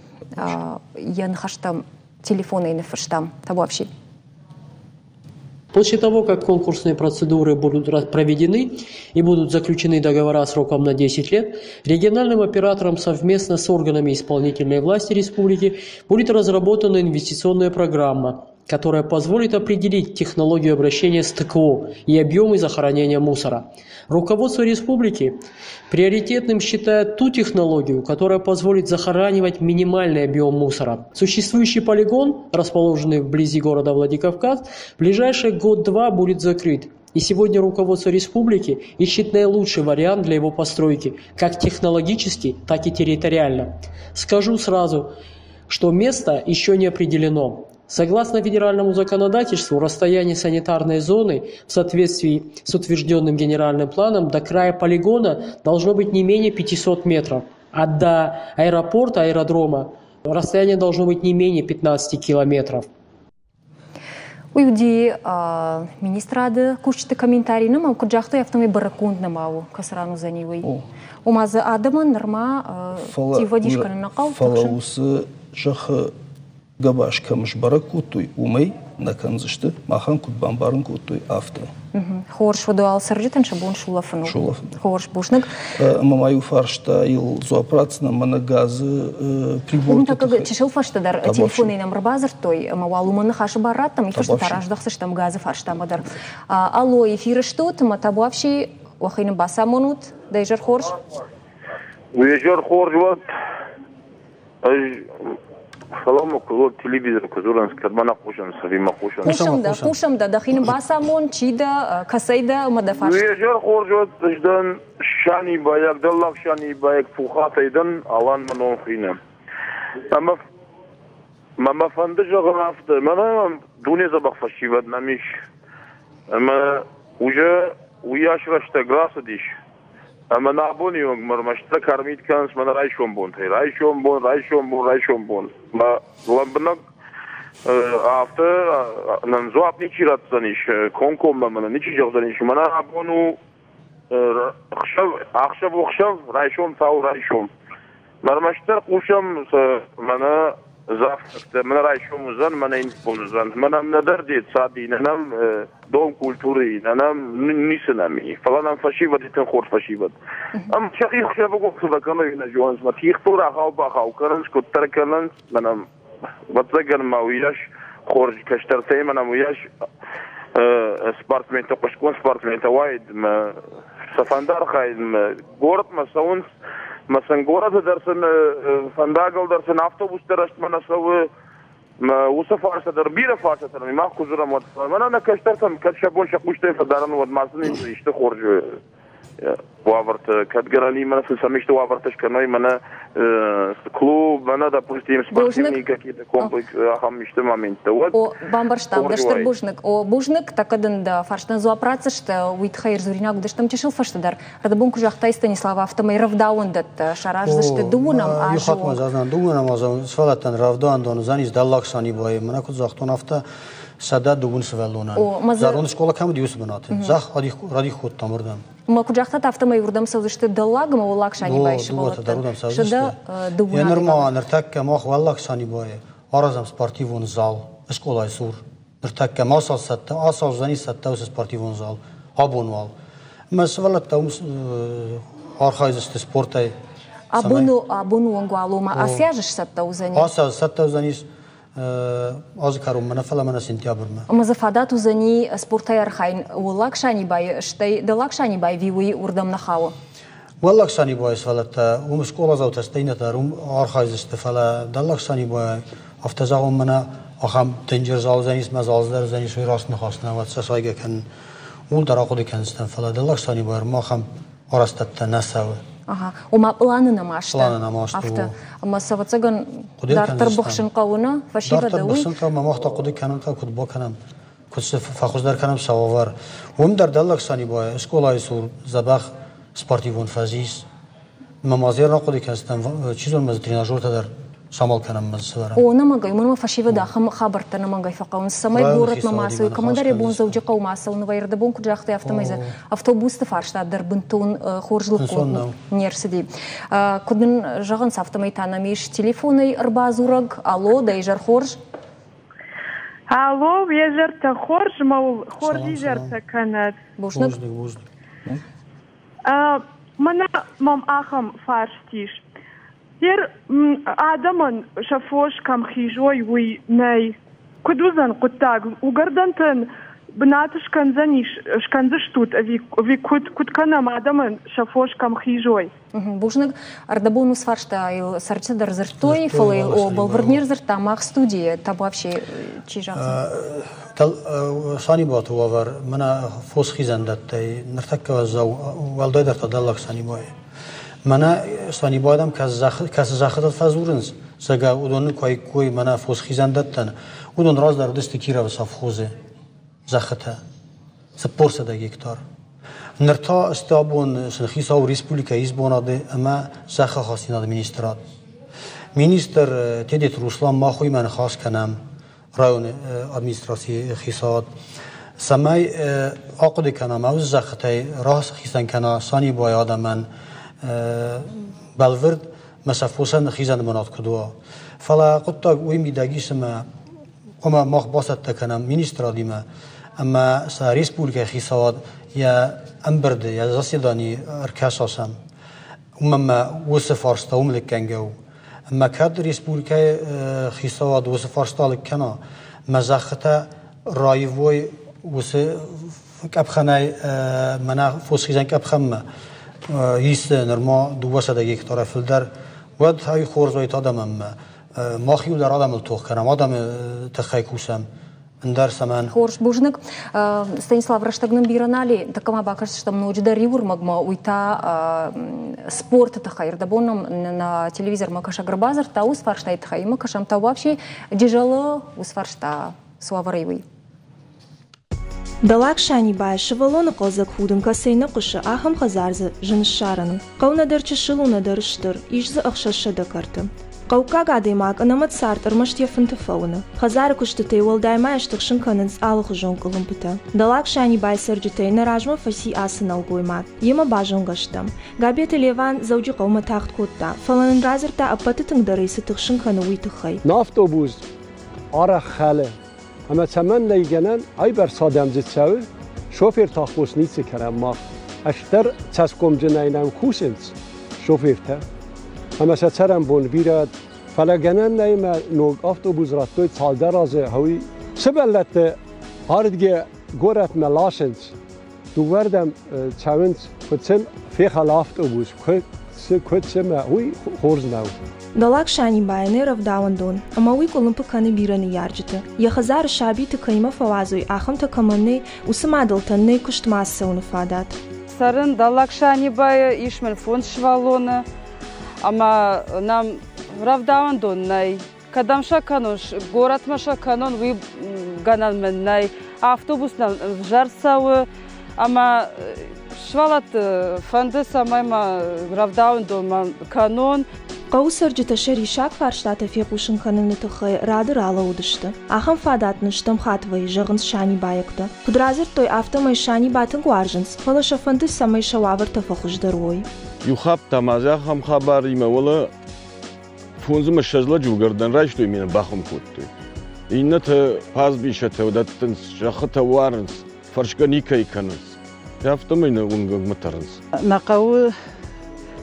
йӕ ныхӕстӕм телефонӕй ныффыстам. Табуапси. После того, как конкурсные процедуры будут проведены и будут заключены договора сроком на десять лет, региональным оператором совместно с органами исполнительной власти республики будет разработана инвестиционная программа, которая позволит определить технологию обращения с ТКО и объемы захоронения мусора. Руководство республики приоритетным считает ту технологию, которая позволит захоранивать минимальный объем мусора. Существующий полигон, расположенный вблизи города Владикавказ, в ближайший год-два будет закрыт. И сегодня руководство республики ищет наилучший вариант для его постройки, как технологически, так и территориально. Скажу сразу, что место еще не определено. Согласно федеральному законодательству, расстояние санитарной зоны в соответствии с утвержденным генеральным планом до края полигона должно быть не менее пятисот метров, а до аэропорта, аэродрома расстояние должно быть не менее пятнадцати километров. Уый уыди министрады кусджыты комментари, нӕма куыд загътой, афтӕмӕй бӕрӕггонд нӕма у, кӕцы ран уыдзӕни уый. Ома дзы адӕмӕн нырма тиввӕдис кӕнын нӕ хъӕуы. Фӕлӕ уыцы зӕххы гӕбаз кӕм сбӕрӕг кодтой, уымӕй нӕ кӕндзысты, махӕн куыд бамбарын кодтой, афтӕ. Хорз, уӕд уал цӕрджытӕн сӕ бон сулӕфын у. Сулӕфын. Хорз, бузныг. Ӕмӕ ма иу фарстайыл дзуапп ратдзынӕн мӕнӕ газы приборты тыххӕй. Чысыл фӕстӕдӕр телефонӕй нӕм ӕрбадзырдтой, ӕмӕ уал уымӕн ныхасы бар раттӕм, уый фӕстӕ та раздӕхдзыстӕм газы фарстамӕ дӕр. Алло, эфиры стут, ӕмӕ табуафси, уӕхи нын бацамонут. Дӕ изӕр хорз. Уе изӕр хорз уӕд. Ӕз Фӕлӕ куы телевизор куы дзурынц, кӕд ма нӕ хъусынц ӕви ма хъусынц? Хъусӕм дӕ, хъусӕм дӕ, дӕхи нын бацамон, чи дӕ, кӕцӕй дӕ ӕмӕ дӕ фарст. Уе зӕр хорз уӕд, ӕз дӕн Санибайаг, дӕллаг Санибайаг Пухатӕй дӕн, Алан мӕ ном хуины. Ӕмӕ мӕ мӕ фӕнды зӕгъын афтӕ, мӕнӕ дуне дзӕбӕх фӕсивӕд нӕм ис. Ӕмӕ уже уыйас рӕстӕг рацыдис, ӕмӕ нӕ абоны онг ӕрмӕстдӕр кӕрмит кӕнынц мӕнӕ райсом бонтӕй. Райсом бон, райсом бон, райсом бон. Мӕ лӕмбынӕг афтӕ нын дзуапп ничи ратдзӕнис, комкоммӕ мӕнӕ ничи зӕгъдзӕнис. Мӕнӕ абон у ӕхсӕв, ӕхсӕв у ӕхсӕв, райсом та у райсом. Ӕрмӕстдӕр хъусӕм мӕнӕ завтрактӕ, мӕнӕ райсом уыдзӕн, мӕнӕ иннӕ бон уыдзӕн. Мӕнӕ нӕдӕр детсад и, нӕ нӕм дом культуры, нӕ нӕм ницы нӕм и. Фӕлӕ нӕм фӕсивӕд и тынг хорз фӕсивӕд. Ӕмӕ сӕхи хсӕвыгон цы фӕкӕной нӕ зонынц, мӕ тигътыл рахау-бахау кӕнынц, куыддӕр кӕнынц, мӕнӕ ӕвӕццӕгӕн ма уыйас хорз кӕстӕртӕй мӕнӕ уыйас спортсментӕ, хъуыстгонд спортсментӕ уаид, мӕ сӕ фӕнды архайын, горӕтмӕ цӕуынц, мӕ сын горӕты дӕр сын фӕндагыл дӕр сын автобустӕ рӕстмӕ нӕ цӕуы, мӕ уыцы фарста дӕр бирӕ фарстатӕ мах куы дзурӕм, уӕд мӕнӕ нӕ кӕстӕртӕм кӕд сӕ бон сӕ хъустӕй фӕдарын, уӕд ма сын исты хорз уавӕрты, кӕд гӕнӕн и, мӕнӕ сын сӕм исты уавӕртӕ скӕной, мӕнӕ клуб, мӕнӕ, допустим, спортивный какие-то комплекс, ахӕм исты моменттӕ, уӕд О, бамбӕрстам, дӕ стыр бузныг. О, бузныг, тӕккӕ дын дӕ фарстӕн дзуапп ратдзысты, уый тыххӕй ӕрдзуринаг уыдыстӕм чысыл фӕстӕдӕр. Рдӕбон куы загътай, Станислав, афтӕмӕй рӕвдауӕндӕттӕ сараздзысты дыууынӕм азы Иу хатт ма загътам, дыууынӕм азы сывӕллӕттӕн рӕвдауӕндон уыдзӕнис Дӕллаг Санибайы. Мӕнӕ куыд загътон, афтӕ сӕдӕ дыууын сывӕллонӕн. Зӕронд скъола кӕм уыди, уыцы бынаты. Зӕхх радих кодтам уырдӕм. Ма куыд загътат, афтӕмӕй уырдӕм цӕудзысты Дӕллаг ӕмӕ Уӕллаг Санибайы сывӕллӕттӕн. Сӕдӕ дыууын. Йӕ нырма ныртӕккӕ мах Уӕллаг Санибайы аразӕм спортивон зал скъолайы цур. Ныртӕккӕ ма цал цӕттӕ, ацал цӕттӕ уыцы спортивон зал абон уал. Ӕмӕ сывӕллӕттӕ уым архайдзысты спортӕй. Абоны абоны онг уал ома ацы аз сцӕттӕ уыдзӕни? Ацы аз цӕттӕ уыдзӕнис азы кӕронмӕ, нӕ фӕлӕ мӕнӕ сентябрмӕ. Ӕмӕ дзы фадат уыдзӕни спортӕй архайын Уӕллаг Санибайы, стӕй Дӕллаг Санибайы ви уый уырдӕм нӕ хауы? Уӕллаг Санибайы сывӕллӕттӕ уым скъоладзаутӕ стӕй иннӕтӕ дӕр уым архайдзысты, фӕлӕ Дӕллаг Санибайы афтӕ зӕгъон мӕнӕ ахӕм дынджыр зал уыдзӕнис, мӕ зал дӕр уыдзӕнис, уый раст ныхас нӕ уӕд сӕ сайгӕ кӕнын. Ууыл дӕр ахъуыды кӕндзыстӕм, фӕлӕ Дӕллаг Санибайы ахӕм арӕзтӕдтӕ нӕ цӕуы. Ага. Ома пъланы нӕма сты. Пъланы нӕма сты. Афтӕ. Ӕмӕ сӕ ӕвӕццӕгӕн дарддӕр быхсын хъӕуы, нӕ? Фӕсивӕды Дарддӕр быхсын хъӕуы, мӕ мах та хъуыды кӕнын хъӕуы, куыд бакӕнӕм, куыд сӕ фӕхуыздӕр кӕнӕм сӕ уавӕр. Уым дӕр Дӕллаг Санибайы скъолайы цур дзӕбӕх спортивон фӕз ис. Мӕ ма дзы рахъуыды кӕндзыстӕм, чи зоны, ма дзы тренажертӕ дӕр самал кӕнӕм мӕ сывӕрӕм. О, нӕмӕнгӕй, уымӕн ӕмӕ фӕсивӕд ахӕм хабӕрттӕ нӕмӕнгӕй фӕхъӕуынц, цӕмӕй горӕтмӕ ма цӕуой, кӕмӕндӕр йӕ бон Дзӕуджыхъӕумӕ ацӕуын вӕййы, ӕрдӕбон куыд загътай, афтӕмӕй дзы автобусты фарста дӕр бынтон хорз лыггонд не рцыди. Куыд нын зӕгъынц, афтӕмӕй та нӕм ис телефонӕй ӕрбадзурӕг. Алло, дӕ изӕр хорз? Алло, уе зӕртӕ хорз, мӕ уыл хорз изӕртӕ кӕнӕд. Бузныг. Бузныг. Мӕнӕ мӕм ахӕм фарст ис. Ер адӕмӕн сӕ фос кӕм хизой, уый нӕй. Куыд уыдзӕн хъуыддаг? Уыгӕрдӕнтӕн бынат скӕндзӕнис, скӕндзыстут ӕви, ӕви куыд, куыд кӕнӕм адӕмӕн сӕ фос кӕм хизой? Бузныг. Ӕрдӕбон уыцы фарстайыл цӕрджытӕ дӕр дзырдтой, фӕлӕ йыл о, бӕлвырд не рдзырдта мах студийы. Табуафси, чи загъдзӕн? Санибаты уавӕр мӕнӕ фосхизӕндӕттӕй ныртӕккӕ уӕззау, уӕлдайдӕр та Дӕллаг Санибайы. Мӕнӕ Санибайы кӕцы зӕххытыл фӕдзурынц, зӕгъгӕ, уыдон куы аиккой мӕнӕ фосхизӕндӕттӕн, уыдон раздӕр уыдысты Кировы совхозы зӕххытӕ, цыппор сӕдӕ гектар. Ныр та сты абон сын хицау республикӕйы исбонады ӕмӕ зӕххы хӕцинады министрад. Министр Тедеты Руслан мах уыимӕ ныхас кӕнӕм районы администрацийы хицауад, цӕмӕй ахъуыды кӕнӕм, ӕвз зӕххытӕй рахицӕн кӕна Санибайы адӕмӕн бӕлвырд мӕ сӕ фосӕн хизӕн бынат куыд уа. Фӕлӕ хъуыддаг уый мидӕг ис, ӕмӕ хъуамӕ мах бацӕттӕ кӕнӕм министрадимӕ ӕмӕ сӕ республикӕйы хицауад йӕ ӕмбырды, йӕ заседанийы ӕркӕса сӕм. Уымӕн ӕмӕ уыцы фарста уым лыггӕнгӕ у. Ӕмӕ кӕд республикӕйы хицауад уыцы фарста лыг кӕна, мӕ зӕххытӕ раивой уыцы къӕпхӕнӕй мӕнӕ фосхизӕн къӕпхӕнмӕ, ис нырма дыууӕсӕдӕ гектарӕй фылдӕр, уӕд ай хорз уайт адӕмӕнмӕ. Мах иу дӕр адӕмыл тох кӕнӕм, адӕмы тыххӕй кусӕм. Ӕндӕр цӕмӕн? Хорз, бузныг. Станислав, рӕстӕг нын бирӕ нал и, тӕккӕ ма бакӕсдзыстӕм ноджыдӕр иу ӕрмӕгмӕ, уый та спорты тыххӕй. Ӕрдӕбон нӕм нӕ телевизормӕ кӕсӕг ӕрбадзырдта уыцы фарстайы тыххӕй, ӕмӕ кӕсӕм та вообще Джызӕлы уыцы фарста цы уавӕрӕй уый. Дӕллаг Санибайы сывӕллоны хъӕлдзӕг худын кӕцӕй нӕ хъуысы, ахӕм хӕдзар дзы зын ссарӕн у. Хъӕу нӕдӕр чысыл у, нӕдӕр стыр, ис дзы ӕхсӕз сӕдӕ кӕрты. Хъӕуккаг адӕймаг ӕнӕмӕт цард ӕрмӕст йӕ фынты фӕуыны. Хӕдзары куыстытӕй уӕлдай ма йӕ стыхсын кӕнынц алыхуызон къуылымпытӕ. Дӕллаг Санибайы цӕрджытӕй нӕ размӕ фӕци ацы нӕлгоймаг. Йемӕ базонгӕ стӕм. Габеты Леван Дзӕуджыхъӕумӕ тагъд кодта, фӕлӕ нын радзырдта ӕппӕты тынгдӕр ӕй цы тыхсын кӕны, уый тыххӕй. На автобус арӕх хӕлы. Ӕмӕ цӕмӕн нӕй гӕнӕн, айбӕрц адӕм дзы цӕуы, шоферты аххос ницы кӕнӕм мах. Ӕстдӕр цӕсгомджынӕй нӕм кусынц шофертӕ. Ӕмӕ сӕ цӕрӕнбон бирӕ, фӕлӕ гӕнӕн нӕй ӕмӕ ног автобус радтой цалдӕр азы хъӕуы. Сывӕллӕтты ардгӕ горӕтмӕ ласынц, дыууӕрдӕм цӕуынц, куыд сын фехӕлы автобус, куыд куыд цымӕ, уый хорз нӕу. Дӕллаг Санибайы нӕ рӕвдауӕндон, ӕмӕ уый къуылымпы кӕны бирӕ ныййарджыты. Йӕ хӕдзары сабиты кӕимӕ фӕуадзой, ахӕмтӕ кӕмӕн нӕй, уыцы мадӕлтӕн нӕй куыстмӕ ацӕуыны фадат. Цӕрын Дӕллаг Санибайы, ис мын фондз сывӕллоны, ӕмӕ нӕм рӕвдауӕндон нӕй. Кӕдӕм сӕ кӕнон, горӕтмӕ сӕ кӕнон, уый гӕнӕн мын нӕй. Автобус нӕм ӕвзӕр цӕуы, ӕмӕ сывӕллӕтты фӕнды, цӕмӕй мӕ рӕвдауӕндонмӕ кӕнон. Хъӕуы цӕрджытӕ сӕ риссаг фарстатӕ фехъусын кӕныны тыххӕй рады ралӕууыдысты. Ахӕм фадат нын стӕм хатт вӕййы, зӕгъынц санибайӕгтӕ. Куыд радзырдтой, афтӕмӕй Саниба тынг уарзынц, фӕлӕ сӕ фӕнды, цӕмӕй сӕ уавӕртӕ фӕхуыздӕр уой. Иу хатт та ма дзы ахӕм хабаримӕ уӕлӕ фондз ӕмӕ ссӕдз лӕджы уыгӕрдӕн райстой ӕмӕ бахуым кодтой. Иннӕтӕ пазбисӕтӕ дӕттынц, зӕххытӕ уарынц, фӕрсгӕ никӕй кӕнынц. Афтӕмӕй нӕ уынгӕгмӕ тӕрынц. Нӕ хъӕуы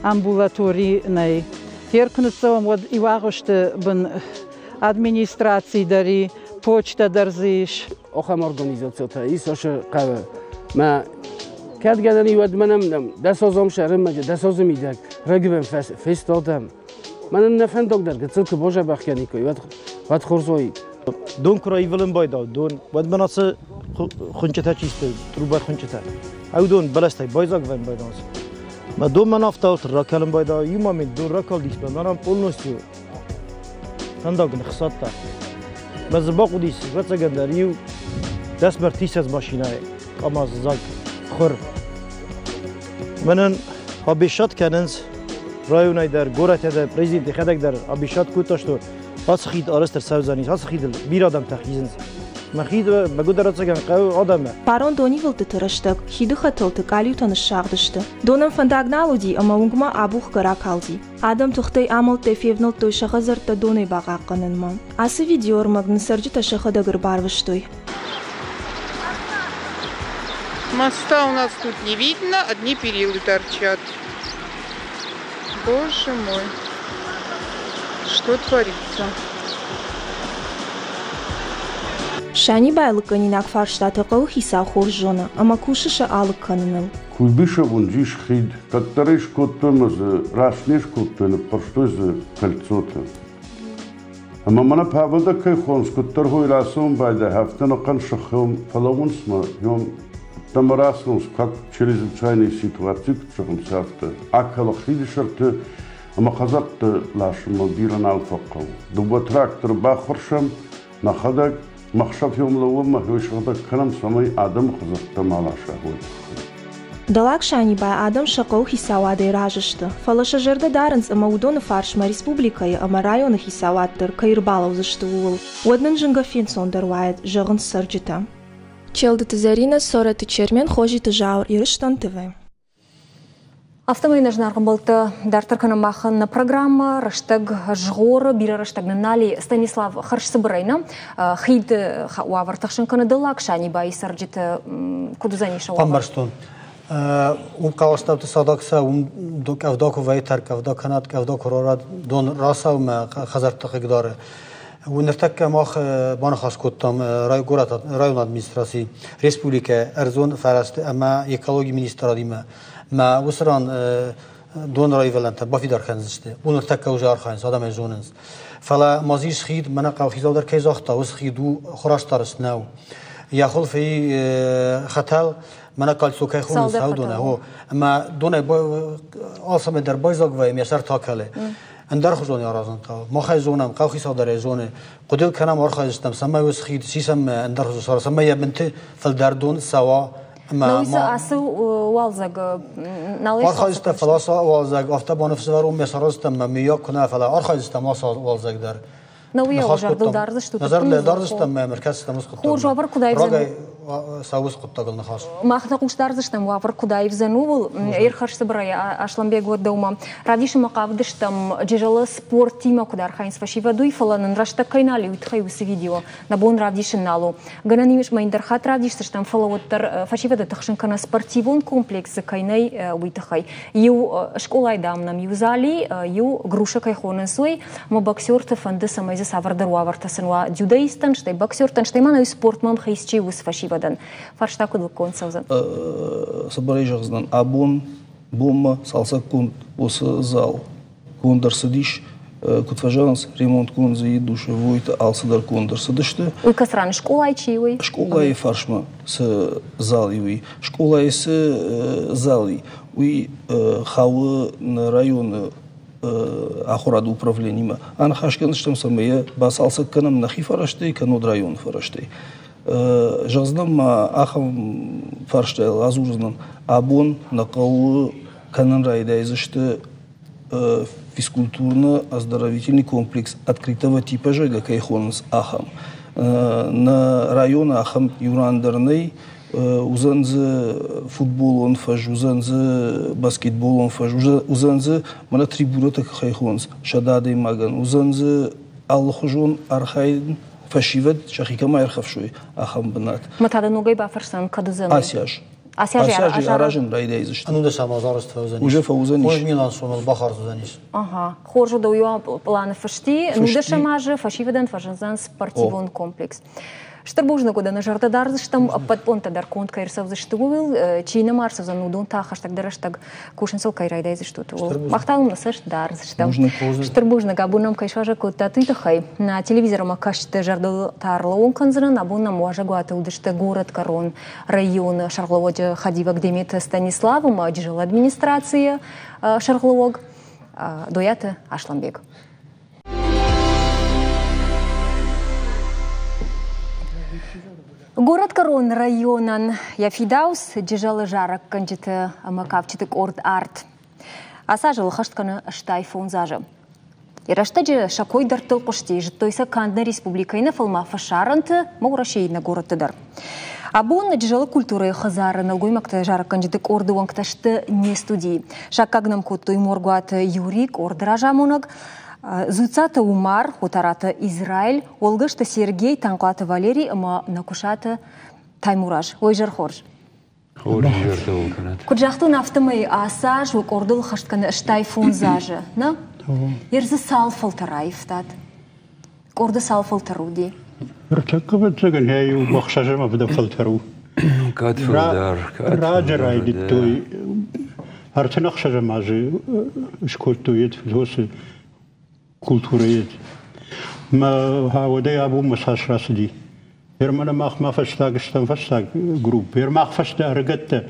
амбулатори нӕй. Хер куы ныццӕуӕм, уӕд иу агъуысты бын администраци дӕр и, почта дӕр дзы ис. Ахӕм организацитӕ ис ашы хъӕуы. Мӕ кӕд гӕнӕн и, уӕд мӕнӕм дӕс азом сӕрымӕджы, дӕс азы мидӕг рагивӕн фестадӕм. Мӕнӕн нӕ фӕндаг дӕр гыццыл куы базӕбӕх кӕниккой, уӕд уӕд хорз уаид. Дон куы раивылын байдау, дон, уӕд мӕн ацы хуынчъытӕ чи сты, трубӕ хуынчъытӕ. Ау дон бӕлӕстӕй байдзаг вӕййын байдауынц. Мӕ дон мӕн афтӕ ракӕлын байдау, иу момент дон ракалдис, мӕ мӕнӕн полностью фӕндаг ныхсадта. Мӕ дзы бахъуыдис, ӕвӕццӕгӕн дӕр, иу дӕс мӕртисӕдз машинӕйы къамаз дзаг хуыр. Мӕнӕн обещать кӕнынц районӕй дӕр, горӕтӕй дӕр, президент йӕхӕдӕг дӕр обещать кодта, что ацы хид арӕзт ӕрцӕудзӕнис, ацы хидыл бирӕ адӕмтӕ хизынц. Мӕ хид мӕгуыдӕр ӕцӕгӕн хъӕуы адӕмы. Фарон донивылдтыты рӕстӕг хиды хӕтӕлты къалиутӕ ныссагъдысты. Донӕн фӕндаг нал уыди ӕмӕ уынгмӕ абухгӕ ракалди. Адӕм тыхтӕй-амӕлттӕй февнӕлдтой сӕ хӕдзӕрттӕ донӕй бахъахъхъӕнынмӕ. Ацы видеоӕрмӕг нын цӕрджытӕ сӕхӕдӕг ӕрбарвыстой. Моста у нас тут не видно, одни перилы торчат. Боже мой, что творится? Санибайы лыггӕнинаг фарстатӕ хъӕуы хицау хорз зоны ӕмӕ кусы сӕ алыг кӕныныл. Куйбышев уынджы ис хид, кӕддӕр ӕй скодтой ӕмӕ дзы раст не скодтой, ныппӕрстой дзы кольцотӕ. Ӕмӕ мӕнӕ Павел кӕй хонынц, куыддӕр хой рацӕуын байдайы, афтӕ ӕнӕхъӕн сыхы фӕлӕууынц мӕ йом ӕмӕ рацӕуынц, как чрезвычайная ситуация куыд зӕгъынц, афтӕ. Акӕлы хиды сӕрты ӕмӕ хӕдзӕртты ласынмӕ бирӕ нал фӕхъӕуы. Дыууӕ тракторы баххуырсӕм, нӕхӕдӕг махсӕв йом лӕууӕм ӕмӕ сыгъдӕг кӕнӕм, цӕмӕй адӕмы хӕдзӕрттӕ ма ласа, уый тыххӕй. Дӕллаг Санибайы адӕм сӕ хъӕуы хицауадӕй разы сты, фӕлӕ сӕ зӕрдӕ дарынц ӕмӕ уыдоны фарсмӕ республикӕйы ӕмӕ районы хицауад дӕр кӕй ӕрбалӕудзысты, ууыл. Уӕд нын зынгӕ фенцондӕр уаид, зӕгъынц цӕрджытӕ. Челдыты Зӕринӕ, Цорӕты Чермен, Хозиты Зауыр, Ирыстон ТВ. Афтӕмӕй нӕ зынаргъ ӕмбӕлттӕ, дарддӕр кӕнӕм махӕн нӕ программӕ «Рӕстӕг згъоры», бирӕ рӕстӕг нын нал и. Станислав, хӕрзцыбырӕй нӕ хид уавӕр тыхсын кӕны Дӕллаг Санибайы цӕрджыты, куыд уыдзӕнис сӕ уавӕр? Бамбӕрстон. Уым хъӕуастӕуты цадаг сӕ, уым къӕвда куы вӕййы, тӕрккъӕвда кӕнӕд, къӕвда куы рарад, дон рацӕуы мӕ хӕдзӕртты хъыгдары. Ныртӕккӕ мах баныхас кодтам районы администраци, республикӕ ӕрдзон фӕрӕзты ӕмӕ экологийы министрадимӕ. Мӕ уыцы ран дон раивӕлӕнтӕ бафидар кӕндзысты. Уым ныртӕккӕ уже архайынц, адӕмӕй зонынц. Фӕлӕ ма дзы ис хид, мӕнӕ хъӕухицау дӕр кӕй загъта, уыцы хид у хурастарыст нӕу. Йӕ хуылфы хӕтӕл, мӕнӕ кольцо кӕй хонынц, донӕй, хо. Ӕмӕ донӕй алцӕмӕй дӕр байдзаг вӕййы, йӕ сӕр та кӕлы. Ӕндӕрхуызон аразын хъӕуы. Мах ӕй зонӕм, хъӕухицау дӕр ӕй зоны. Хъуыдыйыл кӕнӕм, архайдзыстӕм, цӕмӕй уыцы хид сисӕм ӕндӕрхуызон сара, цӕмӕй йӕ бынты фылдӕр дон цӕуа. Ӕмӕ ацы уалдзӕг нал Архайдзыстӕм, фӕлӕ ацы уалдзӕг афтӕ баныфсӕвӕрон ме сараздзыстӕм мӕ мыййаг куы нӕ, фӕлӕ архайдзыстӕм ацы уалдзӕг дӕр. Нӕ уый зӕрдыл дардзыстут? Нӕ зӕрдыл дардзыстӕм ӕмӕ ӕркӕсдзыстӕм уыцы хъуыддагмӕ. Хорз, уавӕр куыд аивдзӕн? Рагӕй цӕуы уыцы хъуыддагыл ныхас. Мах нӕ хъус дардзыстӕм, уавӕр куыд аивдзӕн, ууыл. Ӕрхӕссы бырӕй Аслӕнбег уӕд дӕумӕ. Равдисынмӕ хъавыдыстӕм, Джызӕлы спортимӕ куыд архайынц фӕсивӕд, уый, фӕлӕ нын рӕстӕг кӕй нал и, уый тыххӕй уыцы видео нӕ бон равдисын нал у. Гӕнӕн ис, ӕмӕ ӕндӕр хатт равдисдзыстӕм, фӕлӕ уӕддӕр фӕсивӕды тыхсын кӕнӕ спортивон комплексы кӕй нӕй, уый тыххӕй. Иу скъолайы, дам, нӕм иу зали, иу груша кӕй хонынц, уый, ӕмӕ боксерты фӕнды, цӕмӕй дзы цавӕрдӕр уавӕртӕ сын уа дзюдоисттӕн, стӕй боксертӕн, стӕй ма нӕ спортмӕ ӕмхиц чи уыцы фӕсивӕдӕн. Фарста куыд лыггонд цӕудзӕн? Цыбырӕй зӕгъдзынӕн, абон бонмӕ цалцӕггонд уыцы зал конд ӕрцыдис Куыд фӕзӕгъынц, ремонтгонд дзы душевойты алцыдӕр конд ӕрцыдысты. Уый кӕцыран скъолайы чи уый? Скъолайы фарсмӕ цы зал и, уый. Скъолайы цы зал и, уый хауы нӕ районы ахуырады управлениемӕ. Аныхас кӕндзыстӕм, цӕмӕй йӕ бацалцӕг кӕнӕм нӕхи фӕрӕзтӕй, кӕннод районы фӕрӕзтӕй. Зӕгъдзынӕн ма ахӕм фарстайыл адзурдзынӕн. Абон нӕ хъӕуы кӕнын райдайдзысты физкультурно-оздоровительный комплекс открытого типа, зӕгъгӕ, кӕй хонынц, ахӕм. Нӕ районы ахӕм иу ран дӕр нӕй. Уыдзӕн дзы футболон фӕз, уыдзӕн дзы баскетболон фӕз, уыдзӕн дзы мӕнӕ трибунӕтӕ кӕй хонынц сӕдӕ адӕймагӕн, уыдзӕн дзы алыхуызон архайын фӕсивӕд сӕхи кӕм аирхӕфсой, ахӕм бынат. Мӕ та дӕ ногӕй бафӕрсӕн, кӕд уыдзӕн? Ацы аз. Ацы аз аразын райдайдзысты. Ӕнудӕсӕм аз арӕзт фӕуыдзӕнис. Уже фӕуыдзӕнис. Фондз милуан сомыл бахардз уыдзӕнис. Ага. Хорз уыд, уый планы фысти. Ӕнудӕсӕм азы фӕсивӕдӕн фӕзындзӕн спортивон комплекс. Стыр бузныг уыд, нӕ зӕрдӕ дардзыстӕм, ӕппӕт пълантӕ дӕр конд кӕй ӕрцӕудзысты, ууыл, чи нӕма ӕрцӕудзӕн, уыдон та хӕстӕгдӕр рӕстӕг кусын сыл кӕй райдайдзыстут, ууыл. Мах та уым нӕ цӕст дардзыстӕм. Стыр бузныг, абон нӕм кӕй суазӕг кодтат, уый тыххӕй. Нӕ телевизормӕ кӕсджыты зӕрдыл та ӕрлӕууын кӕндзынӕн, абон нӕм уазӕгуаты уыдысты горӕтгӕрон районы сӕргълӕууӕджы хӕдивӕг Деметы Станислав ӕмӕ Джызӕлы администрацийы сӕргълӕууӕг Дойаты Асланбег. Горӕтгӕрон районӕн йӕ фидауц Джызӕлы зарӕггӕнджыты ӕмӕ кафджыты къорд «Арт». Ацы азыл хӕст кӕны ӕстай фондз азы. Йӕ рӕстӕджы сӕ кой дӕрдтыл хъуысти, зыдтой сӕ канд нӕ республикӕйы нӕ, фӕлӕ ма фӕсарӕнты ӕмӕ Уӕрӕсейы иннӕ горӕтты дӕр. Абон Джызӕлы культурӕйы хӕдзары нӕлгоймӕгты зарӕггӕнджыты къорды уӕнгтӕ сты не студийы. Саккаг нӕм кодтой Моргуаты Юрий, къорды разамонӕг, Дзуццаты Умар, Отараты Израиль, Олгасты Сергей, Танхъуаты Валерий ӕмӕ Нӕкуысаты Таймураз. Ой, зӕр хорз. Куыд загътон, афтӕмӕй ацы аз уӕ къордыл хӕст кӕны ӕстай фондз азы, нӕ? Ер дзы цал фӕлтӕр аивтат? Къорды цал фӕлтӕр уыди? Ӕртӕккӕ ӕвӕццӕгӕн йӕ иу ӕхсӕзӕм ӕвдӕм фӕлтӕр у. Кӕд фылдӕр, кӕд Раджы райдыдтой, ӕртын ӕхсӕзӕм азы скодтой фыдосы культурӕйы. Мӕ уӕдӕй абонмӕ цас рацыди. Германы мах ма фӕстаг стӕм фӕстаг групп. Ер мах фӕстӕ ӕрыгӕттӕ.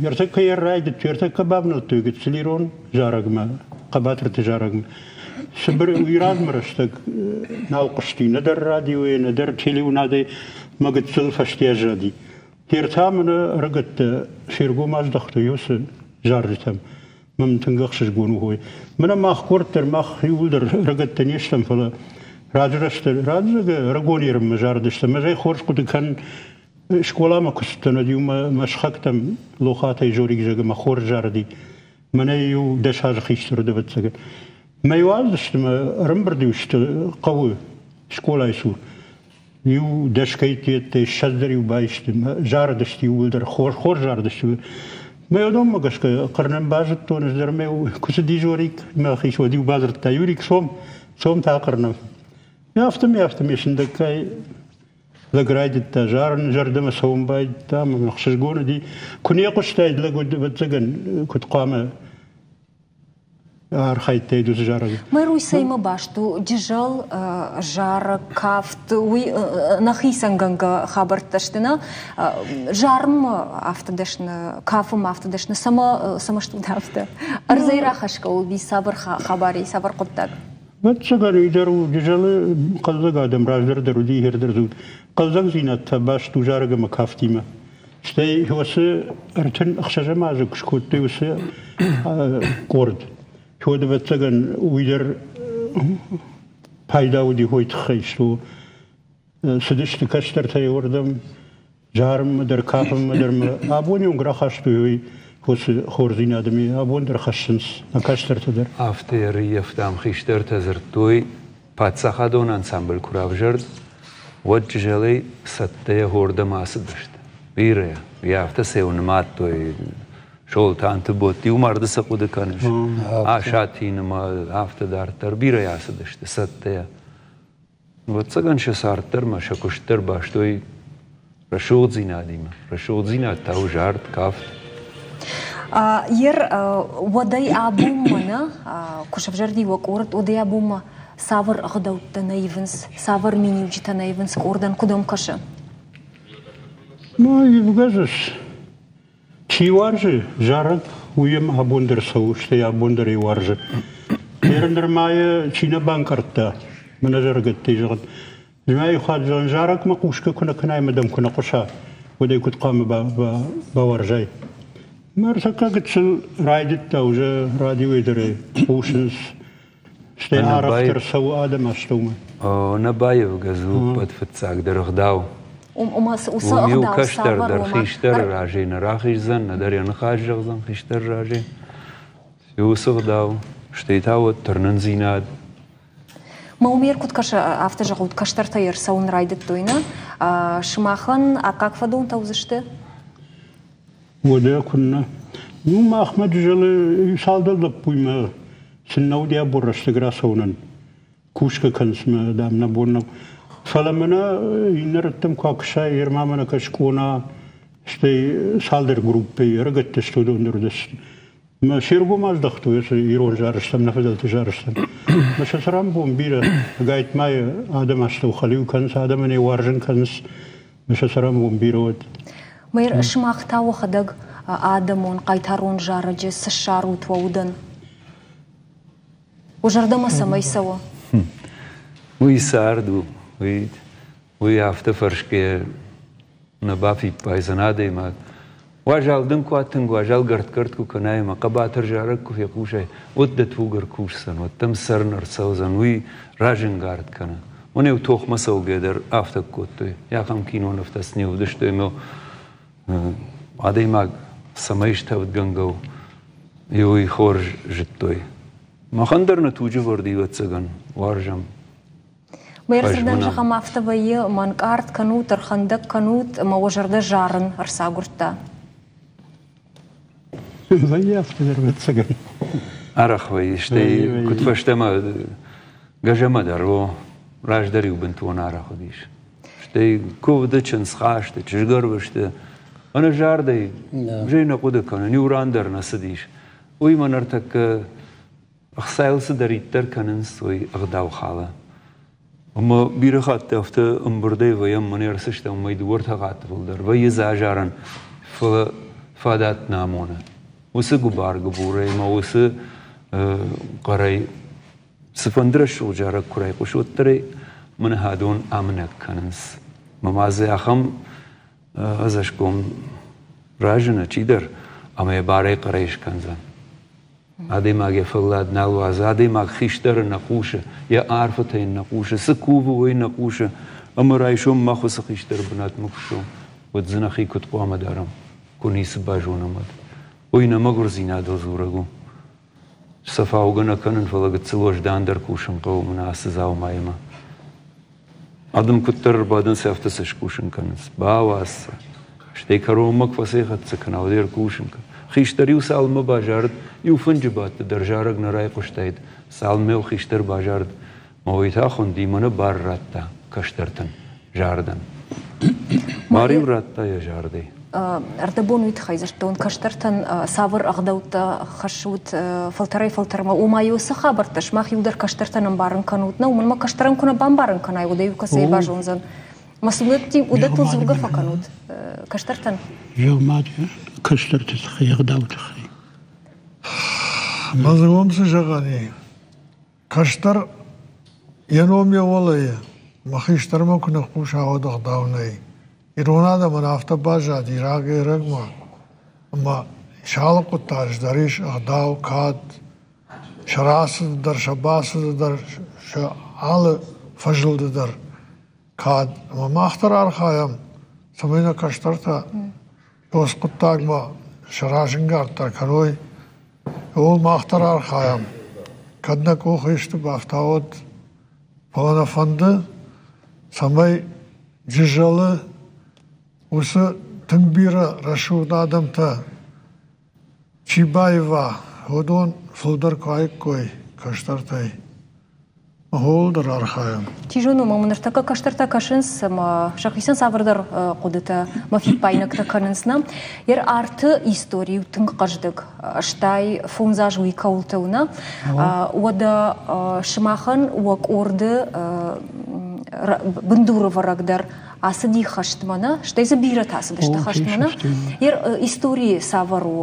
Ӕртӕккӕ йӕ райдыдтой, ӕртӕккӕ бавнӕлдтой гыццыл ирон зарӕгмӕ, хъӕбатырты зарӕгмӕ. Сыбыр уый размӕ рӕстӕг нал хъуысти, нӕдӕр радиойӕ, нӕдӕр телеуынадӕй мӕ гыццыл фӕсте аззади. Гер та мын ӕрыгӕттӕ се ргом аздӕхтой уыцы зарджытӕм. Мӕм тынг ӕхсызгон у хой. Мӕнӕ мах къорд дӕр, мах иууылдӕр ӕрыгӕттӕ не стӕм, фӕлӕ раджы рӕстӕг, раджы ӕрыгон ерынмӕ зарыдыстӕм. Ӕз ӕй хорз хъуыды кӕнын, скъоламӕ куы цыдтӕн, уӕд-иу мӕ мӕ сыхӕгтӕм Лохатӕй Жорик зӕгъы, мӕ хорз зарыди. Мӕнӕ иу дӕс азы хистӕр уыд, ӕвӕццӕгӕн. Мӕ иу аздысты мӕ ӕрӕмбырд-иу сты хъӕуы скъолайы цур. Иу дӕсгӕйтты ссӕдз дӕр-иу баисты, зарыдысты иууылдӕр, хорз хорз зарыдысты. Мӕ уыдонмӕ гӕсгӕ хъырнын базыдтон, ӕз дӕр мӕ куы цыди Жорик, мӕ хицауад иу бадзырдта, Юрик, цом, цом та хъырнӕм. Афтӕмӕй, афтӕмӕй сындӕггай лӕг райдыдта зарын, зӕрдӕмӕ цӕуын байдыдта, ӕмӕ ӕхсызгон уыди. Куы не хъуыстаид лӕг, уӕд ӕвӕццӕгӕн, куыд хъуамӕ архайдтаид уыцы зарӕг. Мэр цӕимӕ баст у Джызӕл, зарӕг, кафт, уый нӕхицӕнгӕнгӕ хабӕрттӕ сты, нӕ? Зарынмӕ афтӕ дӕсны, кафынмӕ афтӕ дӕсны, цӕмӕ цӕмӕ стут афтӕ? Ӕрдзӕй рахӕсгӕ уыди цавӕр хабар, цавӕр хъуыддаг? Ӕвӕццӕгӕн, уый дӕр у Джызӕлы хъӕлдзӕг адӕм раздӕр дӕр уыди, хер дӕр дзы хъӕлдзӕгдзинад та баст у зарӕг ӕмӕ кафтимӕ. Стӕй уыцы ӕртын ӕхсӕзӕм азы куы скодтой уыцы къорд, уӕд ӕвӕццӕгӕн уый дӕр пайда уыди хой тыххӕй, что цыдысты кӕстӕртӕй уырдӕм, зарынмӕ дӕр, кафынмӕ дӕр мӕ абоны онг рахастой уый уыцы хорздзинады ми, абон дӕр хӕссынц нӕ кӕстӕртӕ дӕр. Афтӕ ӕрыййӕфтам, хистӕртӕ дзырдтой, паддзахадон ансамбль куы равзӕрд, уӕд Джызӕлӕй цӕттӕйӕ хордӕм ацыдысты. Бирӕ, йӕ афтӕ сӕ нымадтой, Солтанты Ботти, иу марды цы хъуыды кӕныс? Асатинымӕ, афтӕ дарддӕр бирӕ ацыдысты цӕттӕйӕ. Ӕвӕццӕгӕн сӕ цард дӕр ӕмӕ сӕ куыст дӕр бастой рӕсугъддзинадимӕ. Рӕсугъддзинад та у зард, кафт. Ер уӕдӕй абонмӕ нӕ куы сӕвзӕрди уӕ къорд, уӕдӕй абонмӕ цавӕр ӕгъдӕуттӕ нӕ ивынц, цавӕр миниуджытӕ нӕ ивынц къордӕн, куыд ӕм кӕсы? Ну, ивгӕ чи уарзы зарӕг, уый йӕм абон дӕр цӕуы, стӕй абон дӕр ӕй уарзы. Ер нырма йӕ чи нӕ банкъардта, мӕнӕ зӕргӕттӕй зӕгъын. Змӕйы хатт зӕгъын, зарӕгмӕ хъусгӕ куы нӕ кӕнай ӕмӕ дӕм куы нӕ хъуса, уӕд ӕй куыд хъуамӕ бауарзай? Мӕ ӕртӕккӕ гыццыл райдыдта уже радиойы дӕр ӕй хъусынц, стӕй арӕхдӕр цӕуы адӕм астӕумӕ. Нӕ баивгӕ дзы ӕппӕт фыццагдӕр ӕгъдау. Уым иу кӕстӕр дӕр хистӕры разӕй нӕ рахиздзӕн, нӕдӕр йӕ ныхас зӕгъдзӕн хистӕры разӕй. Уыцы ӕгъдау, стӕй та уӕд тырнындзинад. Мӕ умер куыд кӕсы, афтӕ зӕгъут, кӕстӕртӕ ӕрцӕуын райдыдтой, нӕ? Сымахӕн аккаг фӕдонтӕ уыдзысты? Уӕдӕ куыннӕ. Ну, махмӕ Джызӕлы цалдӕр лӕппуимӕ сын нӕ уыди абон рӕстӕг рацӕуынӕн. Кусгӕ кӕнынц мӕ, дам, нӕ бон нӕу. Фӕлӕ мӕнӕ иннӕ рӕттӕм куы акӕсай, ерма мӕнӕ кӕсгона, стӕй цалдӕр группӕйы ӕрыгӕттӕ сты, уыдон дӕр уыдысты. Мӕ се ргом аздӕхтой ирон зарыстӕм, нӕ фыдӕлты зарыстӕм. Мӕ сӕ цӕрӕнбон бирӕ, ӕгайтма адӕм астӕу хӕлиу кӕнынц, адӕмӕн ӕй уарзын кӕнынц, мӕ сӕ цӕрӕнбон бирӕ уӕд. Мэр, сымах та уӕхӕдӕг адӕмон хъайтарон зарӕджы цы ссарут уӕ удӕн? Уӕ зӕрдӕмӕ цӕмӕй цӕуы? Уый цард у, уый, уый афтӕ фӕрсгӕ нӕ бафиппайдзӕн адӕймаг. Уазал дын куы тынг уазал гӕртт-гӕртт куы кӕнай ӕмӕ хъӕбатыр зарӕг куы фехъусай, уӕд дӕ туг ӕркусдзӕн, уӕд дӕм цӕрын ӕрцӕудзӕн, уый разӕнгард кӕны. Уын-иу тохмӕ цӕугӕ дӕр афтӕ кодтой. Ахӕм кинонывтӕ сын не уыдысты ӕмӕ адӕймаг цӕмӕй стӕвдгӕнгӕ у, уый хорз зыдтой. Махӕн дӕр нӕ туджы вӕрд ӕвӕццӕгӕн уарзӕм. Мӕ ӕрцыдӕн зӕгъӕм афтӕ вӕййы, мӕнкъард кӕнут, ӕрхӕндӕг кӕнут, ӕмӕ уӕ зӕрдӕ зарын ӕрцагуырдта. Вӕййы афтӕ дӕр ӕвӕццӕгӕн. Арӕх вӕййы, стӕй куыд фӕстӕмӕ гӕзӕмӕ дӕр, о, раздӕр-иу бынтон арӕх уыдис. Стӕй куывды, чындзхасты, чызгӕрвысты, ӕнӕзардӕй зӕй нӕ хъуыды кӕнын, иу ран дӕр нӕ цыдис. Уый мӕ ныртӕккӕ ӕхцайыл цыдӕриддӕр кӕнынц, уый ӕгъдау халы. Ӕмӕ бирӕ хатт афтӕ ӕмбырдӕй вӕййӕм, мӕнӕ ӕрцыстӕм, мӕй дыууӕ ӕртӕ хатты фылдӕр вӕййы дзы азарӕн, фӕлӕ фадат нӕ амоны. Уыцы гуыбар-гуыбурӕй ӕмӕ уыцы хъӕрӕй цыфӕнды рӕсугъд зарӕг куы райхъуысы, уӕддӕр ӕй мӕнӕ хӕдон амынӕг кӕнынц. Мӕ ма дзы ахӕм ӕдзӕсгом разыны чидӕр, ӕмӕ йӕ барӕй хъӕрӕй скӕндзӕн. Адӕймаг йӕ фӕллад нал уадзы, адӕймаг хистӕры нӕ хъусы, йӕ арфӕтӕ йын нӕ хъусы, цы кувы, уый нӕ хъусы. Ӕмӕ райсом мах уыцы хистӕры бынатмӕ куы ссӕуӕм, уӕд дзы нӕхи куыд хъуамӕ дарӕм, куы ницы базонӕм, уӕд. Уый нӕ мӕгуырдзинадыл дзурӕг у. Сӕ фаугӕ нӕ кӕнын, фӕлӕ гыццыл уӕздандӕр кусын хъӕуы мӕнӕ ацы дзаумаимӕ. Адӕм куыддӕр ӕрбадынц, афтӕ сӕ скусын кӕнынц. Бауадз сӕ. Стӕй кӕронмӕ куы фӕцӕйхӕццӕ кӕна, уӕд ӕркусын кӕн. Хистӕр-иу цалынмӕ базарыд, иу фынджы бадты дӕр зарӕг нӕ райхъуыстаид, цалынмӕ-иу хистӕр базарыд, мӕ уый та хуынди, мӕнӕ бар радта кӕстӕртӕн зардӕн. Бар-иу радта йӕ зардӕй. Ӕрдӕбон уый тыххӕй дзырдтон, кӕстӕртӕн цавӕр ӕгъдӕуттӕ хӕссут фӕлтӕрӕй-фӕлтӕрмӕ, ома-иу цы хабӕрттӕ сымах иу дӕр кӕстӕртӕн ӕмбарын кӕнут, нӕ, уымӕн ӕмӕ кӕстӕрӕн куы нӕ бамбарын кӕнай, уӕд ӕй кӕцӕй базондзӕн. Мӕ уыдӕттыл дзургӕ фӕкӕнут кӕстӕртӕн? Зӕгъ-ма кӕстӕрты тыххӕй, ӕгъдауы тыххӕй. Мӕ дзы уым цы зӕгъӕн и? Кӕстӕр йӕ ном йӕ уӕлӕйы, мӕ хистӕрмӕ куы ныхъхъуса, уӕд ӕгъдау нӕй. Ирон адӕмӕн афтӕ баззади рагӕй-ӕрӕгмӕ, ӕмӕ сӕ алы хъуыддаджы дӕр ис ӕгъдау, кад, сӕ рацыды дӕр, сӕ бацыды дӕр, сӕ алы фӕзылды дӕр кад. Ӕмӕ мах дӕр архайӕм, цӕмӕй нӕ кӕстӕртӕ уыцы хъуыддагмӕ сӕ разӕнгарддӕр кӕной. Ууыл мах дӕр архайӕм. Кӕд нӕ къухы исты бафта, уӕд. Фӕлӕ нӕ фӕнды, цӕмӕй Джызӕлы уыцы тынг бирӕ рӕсугъд адӕмтӕ чи баива, уыдон фылдӕр куы аиккой кӕстӕртӕй. Махуыл дӕр архайӕм. Чи зоны, ӕмӕ ныртӕккӕ кӕстӕртӕ кӕсынц ӕмӕ сӕхицӕн цавӕрдӕр хъуыдытӕ мӕ фиппаинӕгтӕ кӕнынц нӕ. Йе арты истори у тынг хъӕздыг, стай фондз аз уый кӕуылты у нӕ. Уӕдӕ сымахӕн уӕ къорды бындурӕвӕрӕг дӕр ацыди хӕстмӕ нӕ, стӕй дзы бирӕтӕ ацыдысты хӕстмӕ нӕ. Йе историйы цавӕр у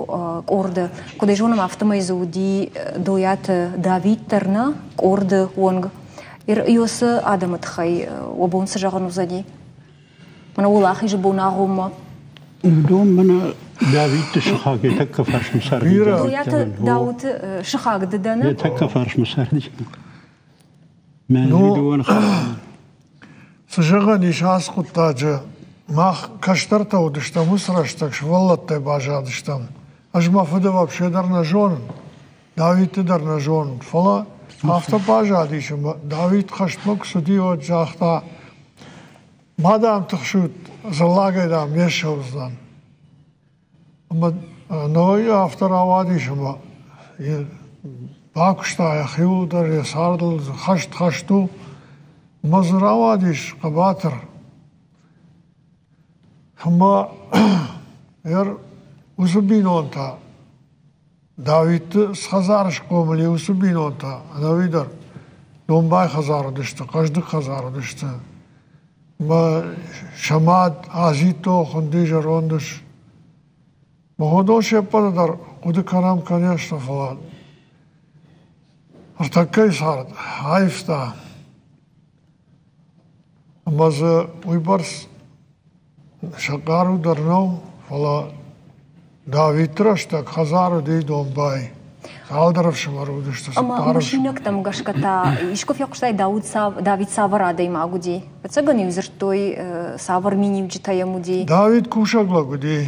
къорды? Куыд ӕй зонӕм, афтӕмӕй дзы уыди Дойаты Давид дӕр нӕ, къорды онг. Иосы адӕмы тыххӕй уӕ бон цы зӕгъын уыдзӕни? Мӕнӕ уӕлахизы бон агъоммӕ. Уыдон мӕнӕ Давидты сыхаг йӕ тӕккӕ фарсмӕ царди. Дойаты Дауыты сыхаг ды дӕ нӕ? Йӕ тӕккӕ фарсмӕ царди. Мӕ дыууӕ Цы зӕгъӕн ис ацы хъуыддаджы, мах кӕстӕртӕ уыдыстӕм, уыцы рӕстӕг сывӕллӕттӕй баззадыстӕм. Ӕз мӕ фыды вообще дӕр нӕ зонын, Давидты дӕр нӕ зонын, фӕлӕ афтӕ баззадис, ӕмӕ Давид хӕстмӕ куы цыди, уӕд загъта, ма, дам, тыхсут, дзыллагӕй, дам, не ссӕудзынӕн. Ӕмӕ ногӕй афтӕ рауадис, ӕмӕ бакуыста йӕхиуыл дӕр, йӕ цардыл, хӕст хӕст у. Ӕмӕ дзы рауадис хъӕбатыр. Ӕмӕ ӕр уыцы бинонтӕ, Давидты цы хӕдзары схъомыл и, уыцы бинонтӕ ӕнӕуи дӕр домбай хӕдзар уыдысты, хъӕздыг хӕдзар уыдысты. Ӕмӕ сӕ мад Азитто хуынди зӕронд ус. Уыдон се ппӕты дӕр хъуыды кӕнӕм, конечно, фӕлӕ ӕртӕккӕйы цард аивта. Ӕмӕ дзы уыйбӕрц сӕ хъару дӕр нӕу, фӕлӕ Давидты рӕстӕг хӕдзар уыди домбай. Цалдӕр ӕфсымӕры уыдысты, Ӕмӕ цыппар. мысинӕгтӕм гӕсгӕ та искуы фехъуыстай, Дауыт Давид цавӕр адӕймаг уыди? Ӕцӕгӕн-иу дзырдтой, цавӕр миниуджытӕ йӕм уыди? Давид кусӕг лӕг уыди.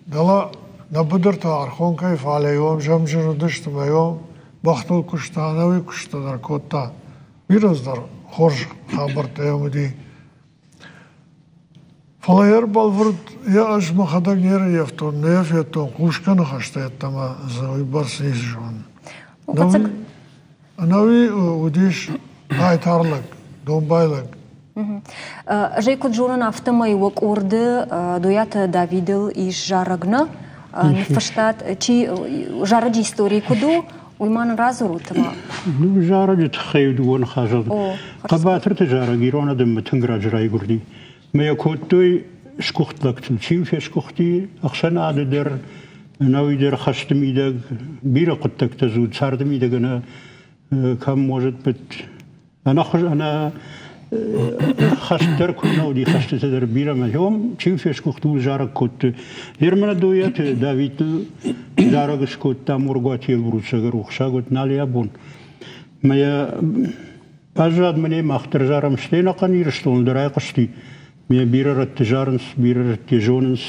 Дӕлӕ нӕ быдырты Архонкӕйы фале уым зӕмджын уыдысты мӕ уым бӕхтыл куыста, ӕнӕуи куыстытӕ дӕр кодта. Бирӕ дӕр хорз хабӕрттӕ йӕм уыди. Фӕлӕ йӕ ӕрбӕлвырд йӕ ӕз мӕхӕдӕг не рӕййӕфтон, нӕ йӕ федтон, хъусгӕ ныхӕстӕ йеддӕмӕ дзы уыйбӕрц ницы зонын. Ӕнӕуи уыдис хъайтар лӕг, домбай лӕг. Ӕз ӕй куыд зонын, афтӕмӕй уӕ къорды Дойаты Давидыл ис зарӕг нӕ? Ныффыстат, чи зарӕджы истори куыд у, уый ма нын радзурут ӕмӕ. Ну, зарӕджы тыххӕй дыууӕ ныхасы. Хъӕбатырты зарӕг ирон адӕммӕ тынг раджы райгуырди. Мӕ йӕ кодтой сгуыхт лӕгтыл. Чи фесгуыхти ӕхсӕнады дӕр, ӕнӕуи дӕр хӕсты мидӕг, бирӕ хъуыддӕгтӕ дзы уыд царды мидӕг ӕнӕ кӕм может быть ӕнӕхуыз ӕнӕ хӕст дӕр куыд нӕ уыди, хӕстытӕ дӕр бирӕ мӕ уым чи фесгуыхт, уый зарӕг кодтой. Ермӕ Дойаты Давидыл зарӕг скодта Моргуаты Елбрусӕг, рухсаг уыд нал йӕ бон. Мӕ йӕ баззад мӕнӕ мах дӕр зарӕм, стӕй ӕнӕхъӕн Ирыстоны дӕр айхъуысти. Ме бирӕ рӕтты зарынц, бирӕ рӕтты зонынц.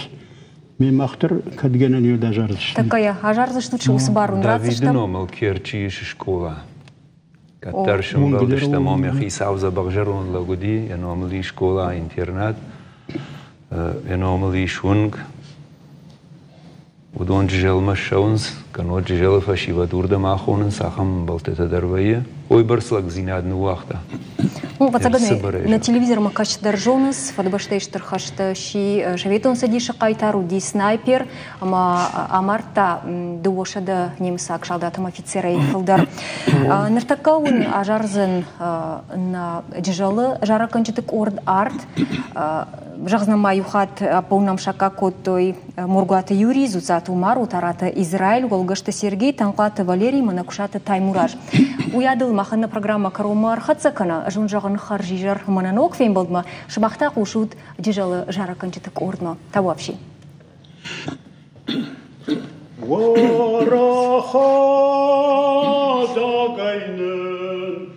Ме мах дӕр кӕд гӕнӕн ӕд азардзыстӕм. Тӕккӕ азардзыстут, уыцы бар уын Давиды ратдзыстӕм. номыл Керчы ис скъола. Кӕддӕр сӕмбӕлдыстӕм, ом йӕ хицау дзӕбӕх зӕронд лӕг уыди, йӕ номыл ис скъола, интернат, йӕ номыл ис уынг. Уыдон Джызӕлмӕ ссӕуынц, кӕннод Джызӕлы фӕсивӕд уырдӕм ахонынц, ахӕм ӕмбӕлттытӕ дӕр вӕййы. Уыйбӕрц лӕгдзинад ныууагъта. Ну, ӕвӕццӕгӕн, нӕ телевизормӕ кӕсдӕр зонынц, Фыдыбӕстӕйы Стыр хӕсты сси Советон Цӕдисы хъайтар, уыди снайпер ӕмӕ амардта дыууӕсӕдӕ немыцаг салдат ӕмӕ офицерӕй фылдӕр. Ныртӕккӕ уын азардзӕн нӕ Джызӕлы зарӕггӕнджыты къорд «Арт». Зӕгъдзынӕн ма иу хатт, ӕппӕлынӕм саккаг кодтой Моргуаты Юрий, Дзуццаты Умар, Отараты Израиль, Уӕлгӕсты Сергей, Танхъуаты Валерий, Мӕнӕкуысаты Таймураз. Уыйадыл махӕн нӕ программӕ кӕронмӕ ӕрхӕццӕ кӕна, ӕз уын зӕгъын хӕрзизӕр мӕнӕ ног фембӕлдмӕ, сымах та хъусут Джызӕлы зарӕггӕнджыты къордмӕ. Табуафси. Уӕрӕхадагӕй нын